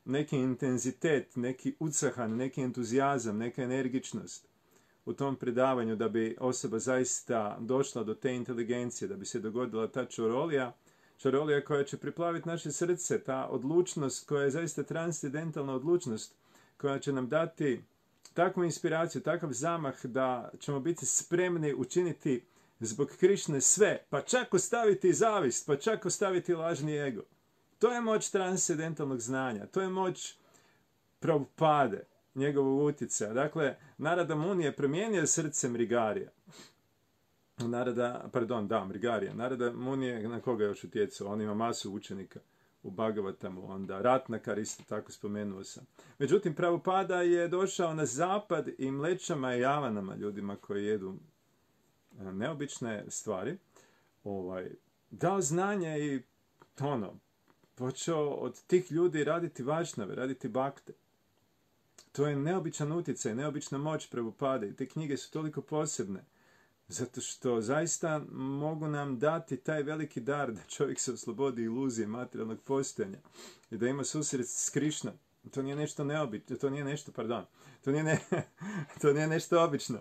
neki intenzitet, neki utsahan, neki entuzijazam, neka energičnost u tom predavanju da bi osoba zaista došla do te inteligencije, da bi se dogodila ta čarolija koja će priplaviti naše srce, ta odlučnost koja je zaista transcendentalna odlučnost, koja će nam dati takvu inspiraciju, takav zamah da ćemo biti spremni učiniti zbog Krišne sve, pa čak ostaviti zavist, pa čak ostaviti lažni ego. To je moć transcendentalnog znanja, to je moć Prabhupade, njegovog utjecaja. Dakle, Narada Muni je promijenio srce Mrigarija. Mrigarija. Narada Muni je na koga još utjecao? On ima masu učenika u Bhagavatamu, onda Ratnakar isto tako spomenuo sam. Međutim, Prabhupada je došao na zapad i mlečama i javanama, ljudima koji jedu neobične stvari, dao znanje i počeo od tih ljudi raditi vašnave, raditi bakte. To je neobičan utjecaj, neobična moć Prabhupade i te knjige su toliko posebne. Zato što zaista mogu nam dati taj veliki dar da čovjek se oslobodi iluzije materijalnog postojanja i da ima susret s Krišnom. To nije nešto neobično, to nije nešto, pardon, to nije nešto obično.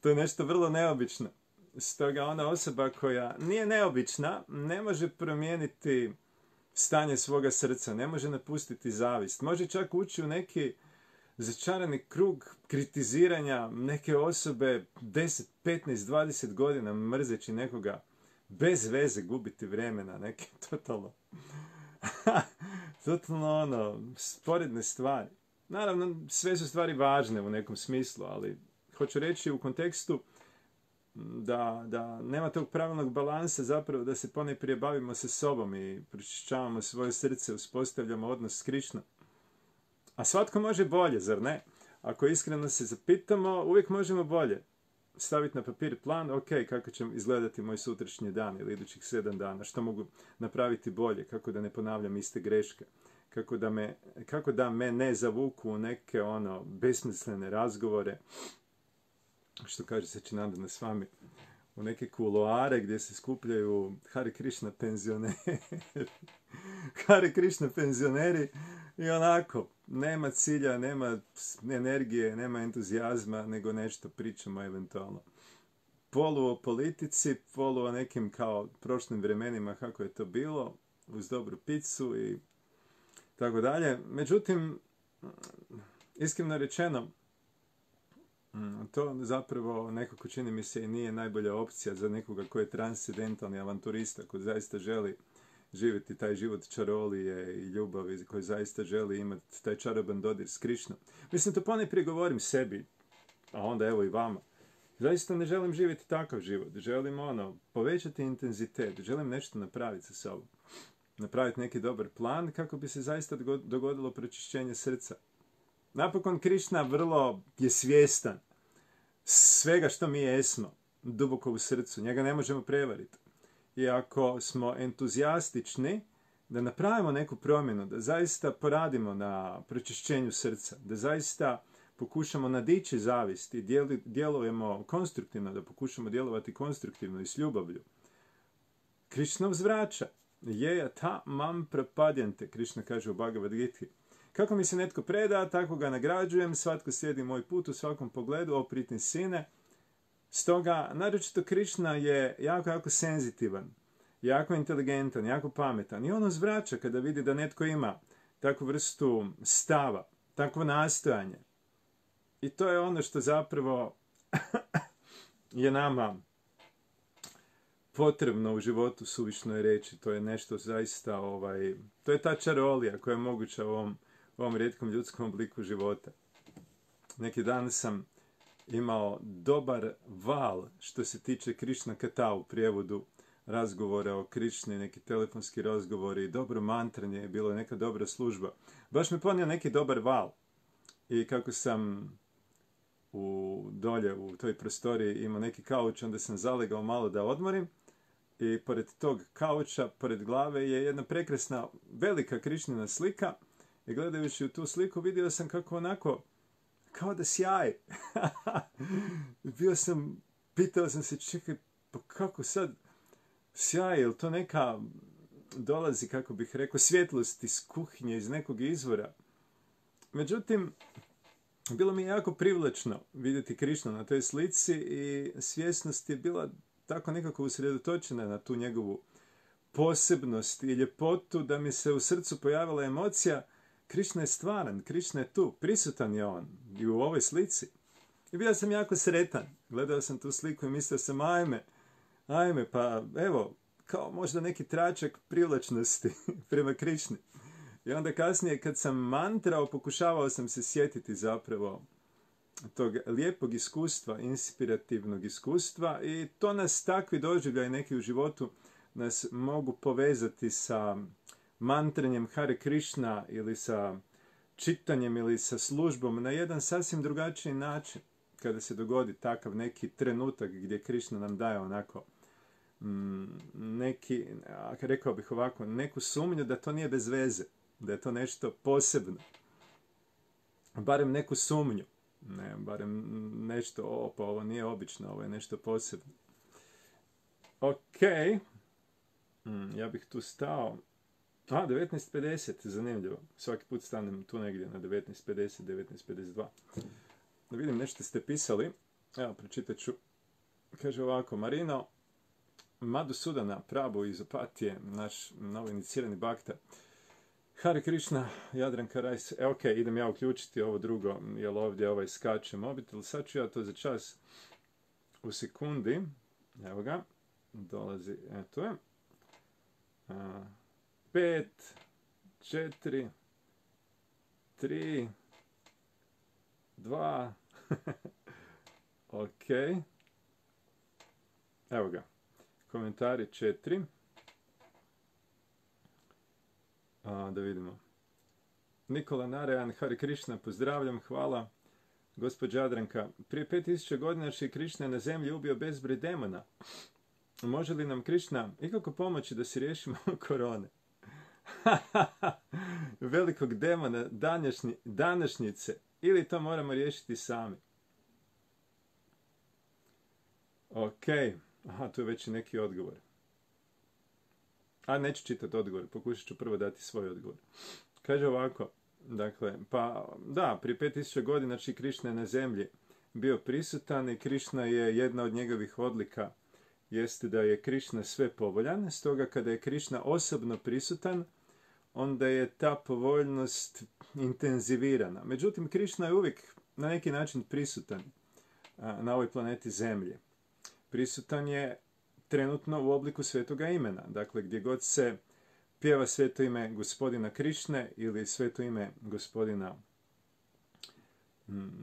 To je nešto vrlo neobično. Stoga ona osoba koja nije neobična ne može promijeniti stanje svoga srca, ne može napustiti zavist. Može čak ući u neki začarani krug kritiziranja neke osobe 10, 15, 20 godina mrzeći nekoga bez veze, gubiti vremena, neke totalno sporedne stvari. Naravno, sve su stvari važne u nekom smislu, ali hoću reći u kontekstu da nema tog pravilnog balansa, zapravo da se ponajprije bavimo sa sobom i pročišćavamo svoje srce, uspostavljamo odnos s Krišnom. A svatko može bolje, zar ne? Ako iskreno se zapitamo, uvijek možemo bolje. Staviti na papir plan, ok, kako će izgledati moj sutrašnji dan ili idućih 7 dana, što mogu napraviti bolje, kako da ne ponavljam iste greške, kako da me ne zavuku u neke besmislene razgovore, što kaže Sačinandana Swami, u neke kuloare gdje se skupljaju Hare Krishna penzioneri. Hare Krishna penzioneri i onako, nema cilja, nema energije, nema entuzijazma, nego nešto pričamo eventualno. Polu o politici, polu o nekim kao prošlim vremenima kako je to bilo, uz dobru picu i tako dalje. Međutim, iskreno rečeno, to zapravo nekako čini mi se i nije najbolja opcija za nekoga koji je transcendentalni avanturista, koji zaista želi živjeti taj život čarolije i ljubavi, koji zaista želi imati taj čaroban dodir s Krišnom. Mislim, to ponajprije govorim sebi, a onda evo i vama. Zaista ne želim živjeti takav život. Želim povećati intenzitet, želim nešto napraviti sa sobom. Napraviti neki dobar plan kako bi se zaista dogodilo pročišćenje srca. Napokon Krišna vrlo je svjestan svega što mi jesmo, duboko u srcu. Njega ne možemo prevariti. I ako smo entuzijastični da napravimo neku promjenu, da zaista poradimo na pročišćenju srca, da zaista pokušamo nadići zavist i djelujemo konstruktivno, da pokušamo djelovati konstruktivno i s ljubavlju, Krišna uzvraća. Jeja ta mam prapadjante, Krišna kaže u Bhagavad Giti. Kako mi se netko preda, tako ga nagrađujem, svatko slijedi moj put u svakom pogledu, o pritni sine. Stoga, naročito Krišna je jako senzitivan, jako inteligentan, jako pametan. I on uzvraća kada vidi da netko ima takvu vrstu stava, takvo nastojanje. I to je ono što zapravo je nama potrebno u životu, suvišno je reći. To je nešto zaista, to je ta čarolija koja je moguća u ovom rijetkom ljudskom obliku života. Neki dan sam imao dobar val što se tiče Krišna Kata u prijevodu razgovora o Krišni, neki telefonski razgovori, dobro mantranje, bilo je neka dobra služba. Baš me ponio neki dobar val. I kako sam dolje u toj prostoriji imao neki kauč, onda sam zalegao malo da odmorim. I pored tog kauča, pored glave je jedna prekrasna, velika Krišnina slika. I gledajući u tu sliku vidio sam kako onako, kao da sjaje. Pitao sam se, čekaj, pa kako sad sjaje, je li to neka, dolazi, kako bih rekao, svjetlost iz kuhinje, iz nekog izvora. Međutim, bilo mi je jako privlačno vidjeti Krišnu na toj slici i svjesnost je bila tako nekako usredotočena na tu njegovu posebnost i ljepotu da mi se u srcu pojavila emocija. Krišna je stvaran, Krišna je tu, prisutan je on i u ovoj slici. I bio sam jako sretan. Gledao sam tu sliku i mislio sam, ajme, pa evo, kao možda neki tračak privlačnosti prema Krišni. I onda kasnije kad sam mantrao, pokušavao sam se sjetiti zapravo tog lijepog iskustva, inspirativnog iskustva i to nas takvi doživljaj neki u životu nas mogu povezati sa mantranjem Hare Krishna ili sa čitanjem ili sa službom na jedan sasvim drugačiji način kada se dogodi takav neki trenutak gdje Krishna nam daje onako neki, rekao bih ovako, neku sumnju da to nije bez veze, da je to nešto posebno. Barem neku sumnju Ne, barem nešto, pa ovo nije obično, ovo je nešto posebno. Ok, ja bih tu stao. 19.50, zanimljivo. Svaki put stanem tu negdje na 19.50, 19.52. Da vidim, nešto ste pisali. Evo, pročitat ću. Kaže ovako, Marino Madhusudana Prabhu iz Opatije, naš novo inicirani bakta. Hare Krishna, Jadranka Rajs. Ok, idem ja uključiti ovo drugo, jer ovdje skače mobitel. Sad ću ja to za čas u sekundi. Evo ga, dolazi, eto je. 5, 4, 3, 2, ok. Evo ga, komentari 4. Da vidimo. Nikola Narayan, Hare Krishna, pozdravljam, hvala. Gospođa Jadranka, prije 5000 godina Šri Krishna na zemlji ubio bezbroj demona. Može li nam Krishna ikako pomoći da se riješimo korone? Velikog demona današnjice. Ili to moramo riješiti sami? Ok. Aha, tu je već i neki odgovor. A neću čitati odgovor, pokušat ću prvo dati svoj odgovor. Kaže ovako, dakle, pa da, prije 5000 godina Šri Krishna je na zemlji bio prisutan i Krishna je jedna od njegovih odlika jeste da je Krishna sve povoljan, stoga kada je Krishna osobno prisutan, onda je ta povoljnost intenzivirana. Međutim, Krishna je uvijek na neki način prisutan na ovoj planeti Zemlji. Prisutan je trenutno u obliku svetoga imena. Dakle, gdje god se pjeva sveto ime gospodina Krišne ili sveto ime gospodina,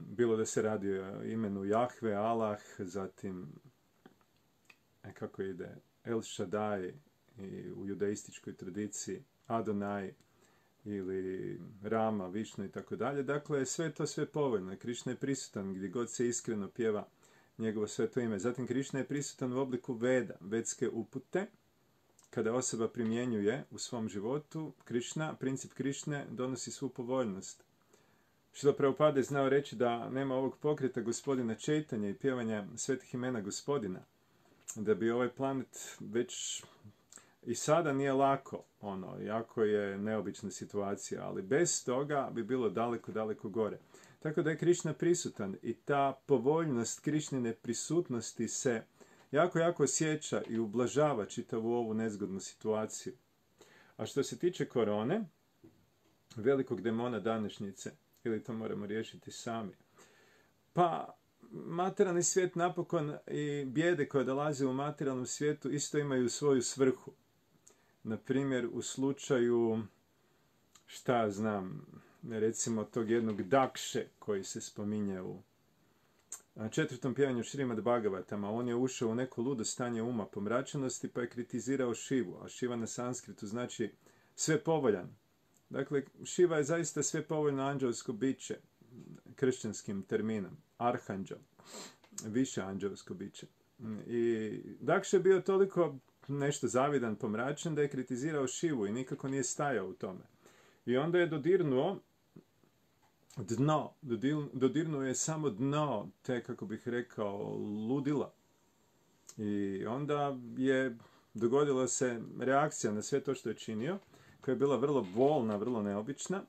bilo da se radi o imenu Jahve, Allah, zatim, kako ide, El Shaddai i u judaističkoj tradiciji, Adonai ili Rama, Višnu i tako dalje. Dakle, sve to sve povoljno. Krišna je prisutan gdje god se iskreno pjeva njegovo sveto ime. Zatim Krišna je prisutan u obliku Veda, vedske upute. Kada osoba primjenjuje u svom životu, princip Krišne donosi svu povoljnost. Šrila Prabhupada je znao reći da nema ovog pokreta gospodina Čejtanja i pjevanja svetih imena gospodina, da bi ovaj planet već i sada nije lako, jako je neobična situacija, ali bez toga bi bilo daleko, daleko gore. Tako da je Krišna prisutan i ta povoljnost Krišnine prisutnosti se jako, jako osjeća i ublažava čitavu ovu nezgodnu situaciju. A što se tiče korone, velikog demona današnjice, ili to moramo riješiti sami, pa materijalni svijet napokon i bijede koje dolaze u materijalnom svijetu isto imaju svoju svrhu. Na primjer, u slučaju, recimo tog jednog Dakše koji se spominje u 4. pjevanju Šrimad Bhagavatama, on je ušao u neko ludo stanje uma pomračenosti pa je kritizirao Šivu, a Šiva na sanskritu znači sve povoljan. Dakle, Šiva je zaista sve povoljno anđelsko biće, kršćanskim terminom, arhanđel, više anđelsko biće. I Dakša je bio toliko nešto zavidan, pomračen, da je kritizirao Šivu i nikako nije stajao u tome. I onda je dodirnuo dno, dodirnuo je samo dno te, kako bih rekao, ludila. I onda je dogodila se reakcija na sve to što je činio, koja je bila vrlo bolna, vrlo neobična,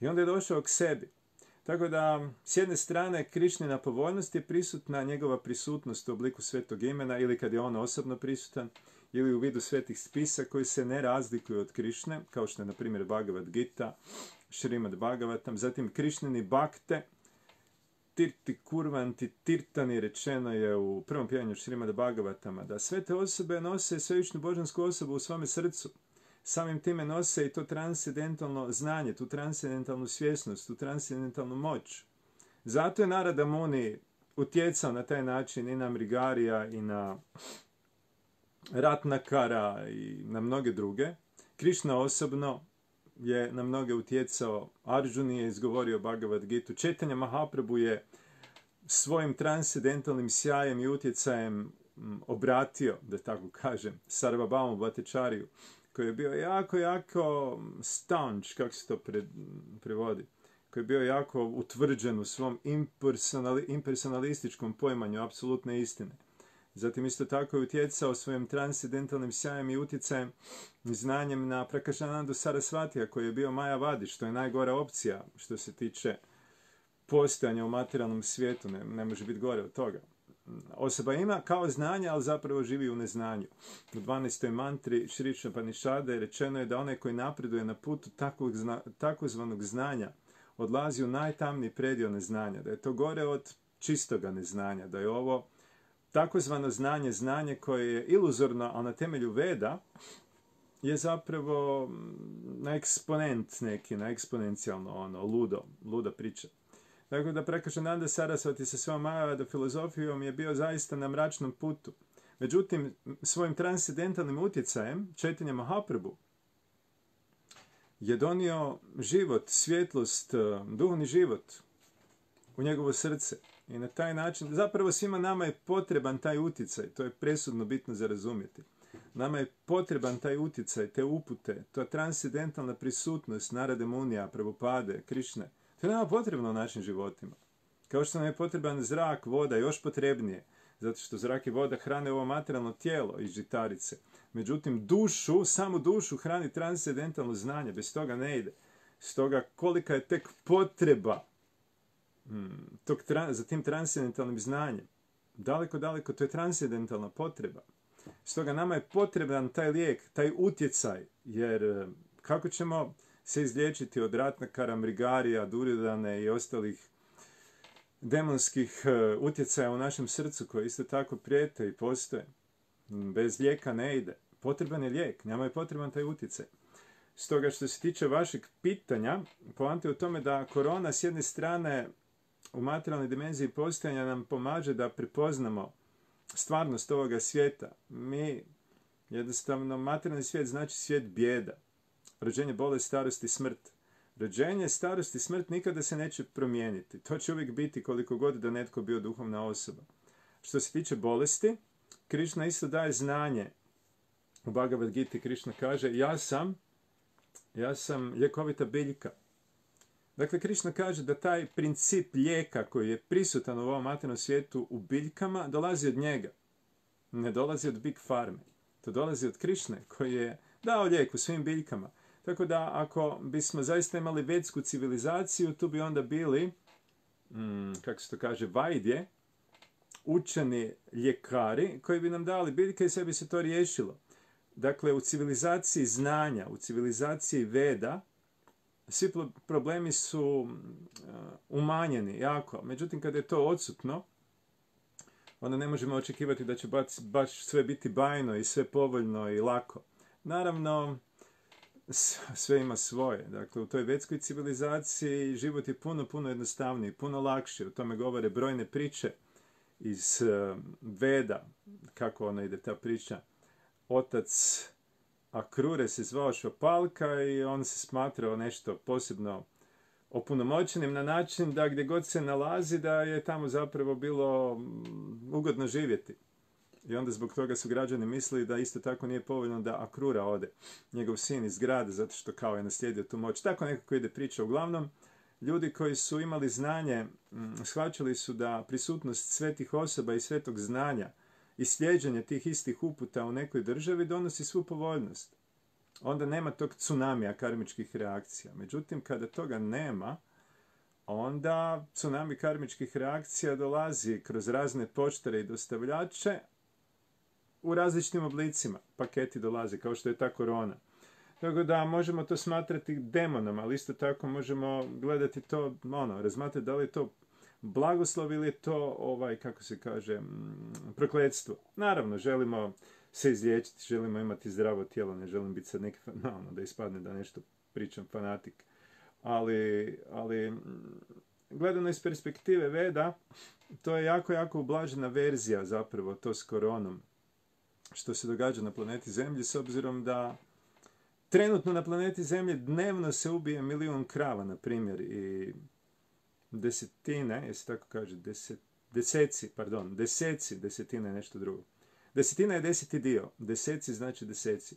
i onda je došao k sebi. Tako da, s jedne strane, Krišnina povoljnost je prisutna, njegova prisutnost u obliku svetog imena, ili kad je on osobno prisutan, ili u vidu svetih spisa koji se ne razlikuju od Krišne, kao što je, na primjer, Bhagavad Gita, Šrimad Bhagavatam, zatim Krišnini bakte, tirti kurvanti tirtani, rečeno je u prvom pjevanju Šrimad Bhagavatama, da sve te osobe nose svevišnju božansku osobu u svome srcu. Samim time nose i to transcendentalno znanje, tu transcendentalnu svjesnost, tu transcendentalnu moć. Zato je Narada Muni utjecao na taj način i na Mrigarija i na Ratnakara i na mnoge druge. Krišna osobno je na mnoge utjecao, Arjuni je izgovorio Bhagavad Gitu, Četanja Mahaprabhu je svojim transcendentalnim sjajem i utjecajem obratio, da tako kažem, Sarvabhaumu Bhattacharyu, koji je bio jako, jako staunch, kako se to prevodi, koji koji je bio jako utvrđen u svom impersonalističkom poimanju apsolutne istine. Zatim isto tako je utjecao svojim transcendentalnim sjajem i utjecajem i znanjem na Prakašanandu Sarasvatija, koji je bio Majavadi, što je najgora opcija što se tiče postojanja u materijalnom svijetu, ne može biti gore od toga. Osoba ima kao znanje, ali zapravo živi u neznanju. U 12. mantri Šri Upanishade rečeno je da onaj koji napreduje na putu takozvanog znanja odlazi u najtamniji predio neznanja, da je to gore od čistoga neznanja, da je ovo takozvano znanje koje je iluzorno, ali na temelju Veda je zapravo na eksponent neki, na eksponencijalno luda priča. Tako da Prakašananda Sarasvati sa svojom Majavada filozofijom je bio zaista na mračnom putu. Međutim, svojim transcendentalnim utjecajem, Chaitanya Mahaprabhu, je donio život, svjetlost, duhovni život u njegovo srce. I na taj način, zapravo svima nama je potreban taj utjecaj, to je presudno bitno za razumjeti. Nama je potreban taj utjecaj, te upute, ta transcendentalna prisutnost Narade Munija, Prabhupade, Krišne. To je nama potrebno u našim životima. Kao što nam je potreban zrak, voda, još potrebnije, zato što zrak i voda hrane ovo materijalno tijelo iz žitarice. Međutim, samu dušu hrani transcendentalno znanje, bez toga ne ide. Stoga kolika je tek potreba za tim transcendentalnim znanjem. Daleko, to je transcendentalna potreba. Stoga nama je potreban taj lijek, taj utjecaj, jer kako ćemo se izliječiti od Ratnakara, Mrigarija, Duryodhane i ostalih demonskih utjecaja u našem srcu koji isto tako prijete i postoje. Bez lijeka ne ide. Potreban je lijek, nama je potreban taj utjecaj. Stoga što se tiče vašeg pitanja, poanta je u tome da korona s jedne strane u materijalnoj dimenziji postojanja nam pomaže da prepoznamo stvarnost ovoga svijeta. Mi, jednostavno, materijalni svijet znači svijet bijeda. Rođenje, bolest, starost i smrt. Rođenje, starost i smrt nikada se neće promijeniti. To će uvijek biti koliko god da netko bio duhovna osoba. Što se tiče bolesti, Krišna isto daje znanje. U Bhagavad Gita Krišna kaže, ja sam ljekovita biljka. Dakle, Krišna kaže da taj princip lijeka koji je prisutan u ovom materijalnom svijetu u biljkama dolazi od njega. Ne dolazi od Big Farme. To dolazi od Krišne koji je dao lijek u svim biljkama. Tako da ako bismo zaista imali vedsku civilizaciju, tu bi onda bili, kako se to kaže, vajdje, učeni ljekari koji bi nam dali biljke i sve bi se to riješilo. Dakle, u civilizaciji znanja, u civilizaciji Veda, svi problemi su umanjeni jako. Međutim, kada je to odsutno, onda ne možemo očekivati da će baš sve biti bajno i sve povoljno i lako. Naravno, sve ima svoje. Dakle, u toj vedskoj civilizaciji život je puno jednostavniji, puno lakši. O tome govore brojne priče iz Veda. Kako ona ide ta priča? Otac Akrure se zvao Šopalka i on se smatrao nešto posebno opunomoćenim na način da gdje god se nalazi da je tamo zapravo bilo ugodno živjeti. I onda zbog toga su građani mislili da isto tako nije povoljno da Akrura ode, njegov sin iz grada, zato što kao je naslijedio tu moć. Tako nekako ide priča. Uglavnom, ljudi koji su imali znanje, shvaćali su da prisutnost svetih osoba i svetog znanja i slijeđenje tih istih uputa u nekoj državi donosi svu povoljnost. Onda nema tog tsunamija karmičkih reakcija. Međutim, kada toga nema, onda tsunami karmičkih reakcija dolazi kroz razne poštare i dostavljače u različitim oblicima. Paketi dolaze, kao što je ta korona. Tako da možemo to smatrati demonom, ali isto tako možemo gledati to, razmatrati da li je to blagoslov ili je to, kako se kaže, prokletstvo. Naravno, želimo se izliječiti, želimo imati zdravo tijelo, ne želim biti sad neki, da ispadne da nešto pričam fanatik. Ali gledano iz perspektive Veda, to je jako ublažena verzija zapravo to s koronom. Što se događa na planeti Zemlji, s obzirom da trenutno na planeti Zemlji dnevno se ubije 1 milijun krava, na primjer, i desetine, jesi tako kaže, desetina je nešto drugo. Desetina je 10. dio, deseci znači deseci.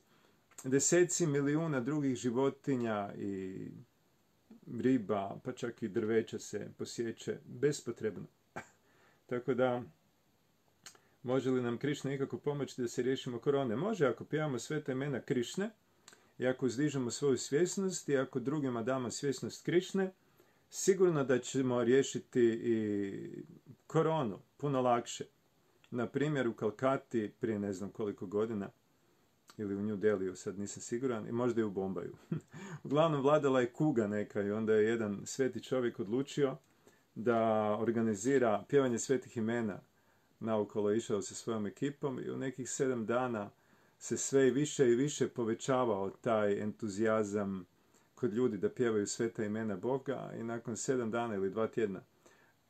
Deseci milijuna drugih životinja i riba, pa čak i drveća se posjeće bespotrebno. Tako da, može li nam Krišna ikako pomoći da se riješimo korone? Može, ako pjevamo sveta imena Krišne, i ako uzdižemo svoju svjesnost, i ako drugima damo svjesnost Krišne, sigurno da ćemo riješiti i koronu puno lakše. Na primjer, u Kalkati prije ne znam koliko godina, ili u New Delhiju, sad nisam siguran, i možda i u Bombaju. Uglavnom, vladala je kuga neka i onda je jedan sveti čovjek odlučio da organizira pjevanje svetih imena. Naokolo je išao sa svojom ekipom i u nekih 7 dana se sve i više povećavao taj entuzijazam kod ljudi da pjevaju sveta imena Boga i nakon 7 dana ili 2 tjedna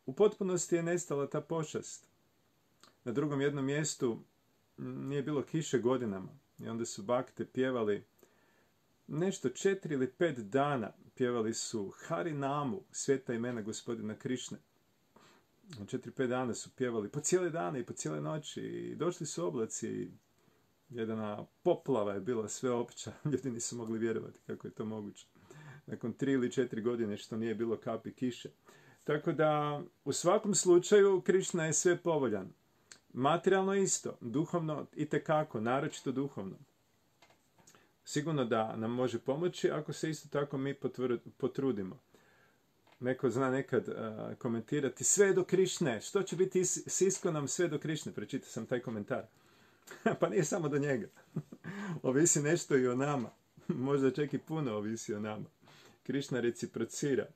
u potpunosti je nestala ta pošast. Na drugom jednom mjestu nije bilo kiše godinama i onda su bakte pjevali nešto 4 ili 5 dana. Pjevali su Harinamu, sveta imena gospodina Krišne. 4-5 dana su pjevali po cijele dane i po cijele noći i došli su oblaci i jedna poplava je bila sveopća. Ljudi nisu mogli vjerovati kako je to moguće. Nakon 3 ili 4 godine što nije bilo kapi kiše. Tako da u svakom slučaju Krišna je sve povoljan. Materijalno isto, duhovno itekako, naročito duhovno. Sigurno da nam može pomoći ako se isto tako mi potrudimo. Neko zna nekad komentirati sve do Krišne. Što će biti s Iskonom sve do Krišne? Prečitao sam taj komentar. Pa nije samo do njega. Ovisi nešto i o nama. Možda čak i puno ovisi o nama. Krišna reciprocira.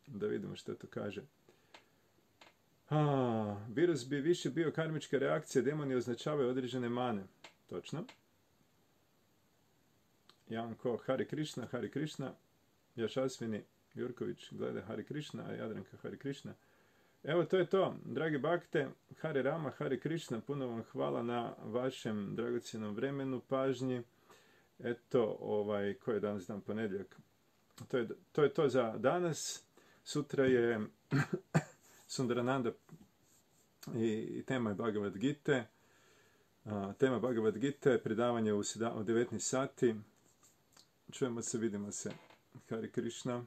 Da vidimo što to kaže. Virus bi više bio karmička reakcija. Demoni označavaju određene mane. Točno. Janko, Hare Krišna. Jašasvini Jurković gleda Hare Krišna, a Jadranka Hare Krišna. Evo, to je to. Dragi bakte, Hare Rama, Hare Krišna, puno vam hvala na vašem dragocjenom vremenu, pažnji. Eto, koji je danas dan, ponedjeljak. To je to za danas. Sutra je Sundarananda i tema je Bhagavad Gita. Tema Bhagavad Gita, predavanje u 19 sati. Čujemo se, vidimo se. Hare Krišna.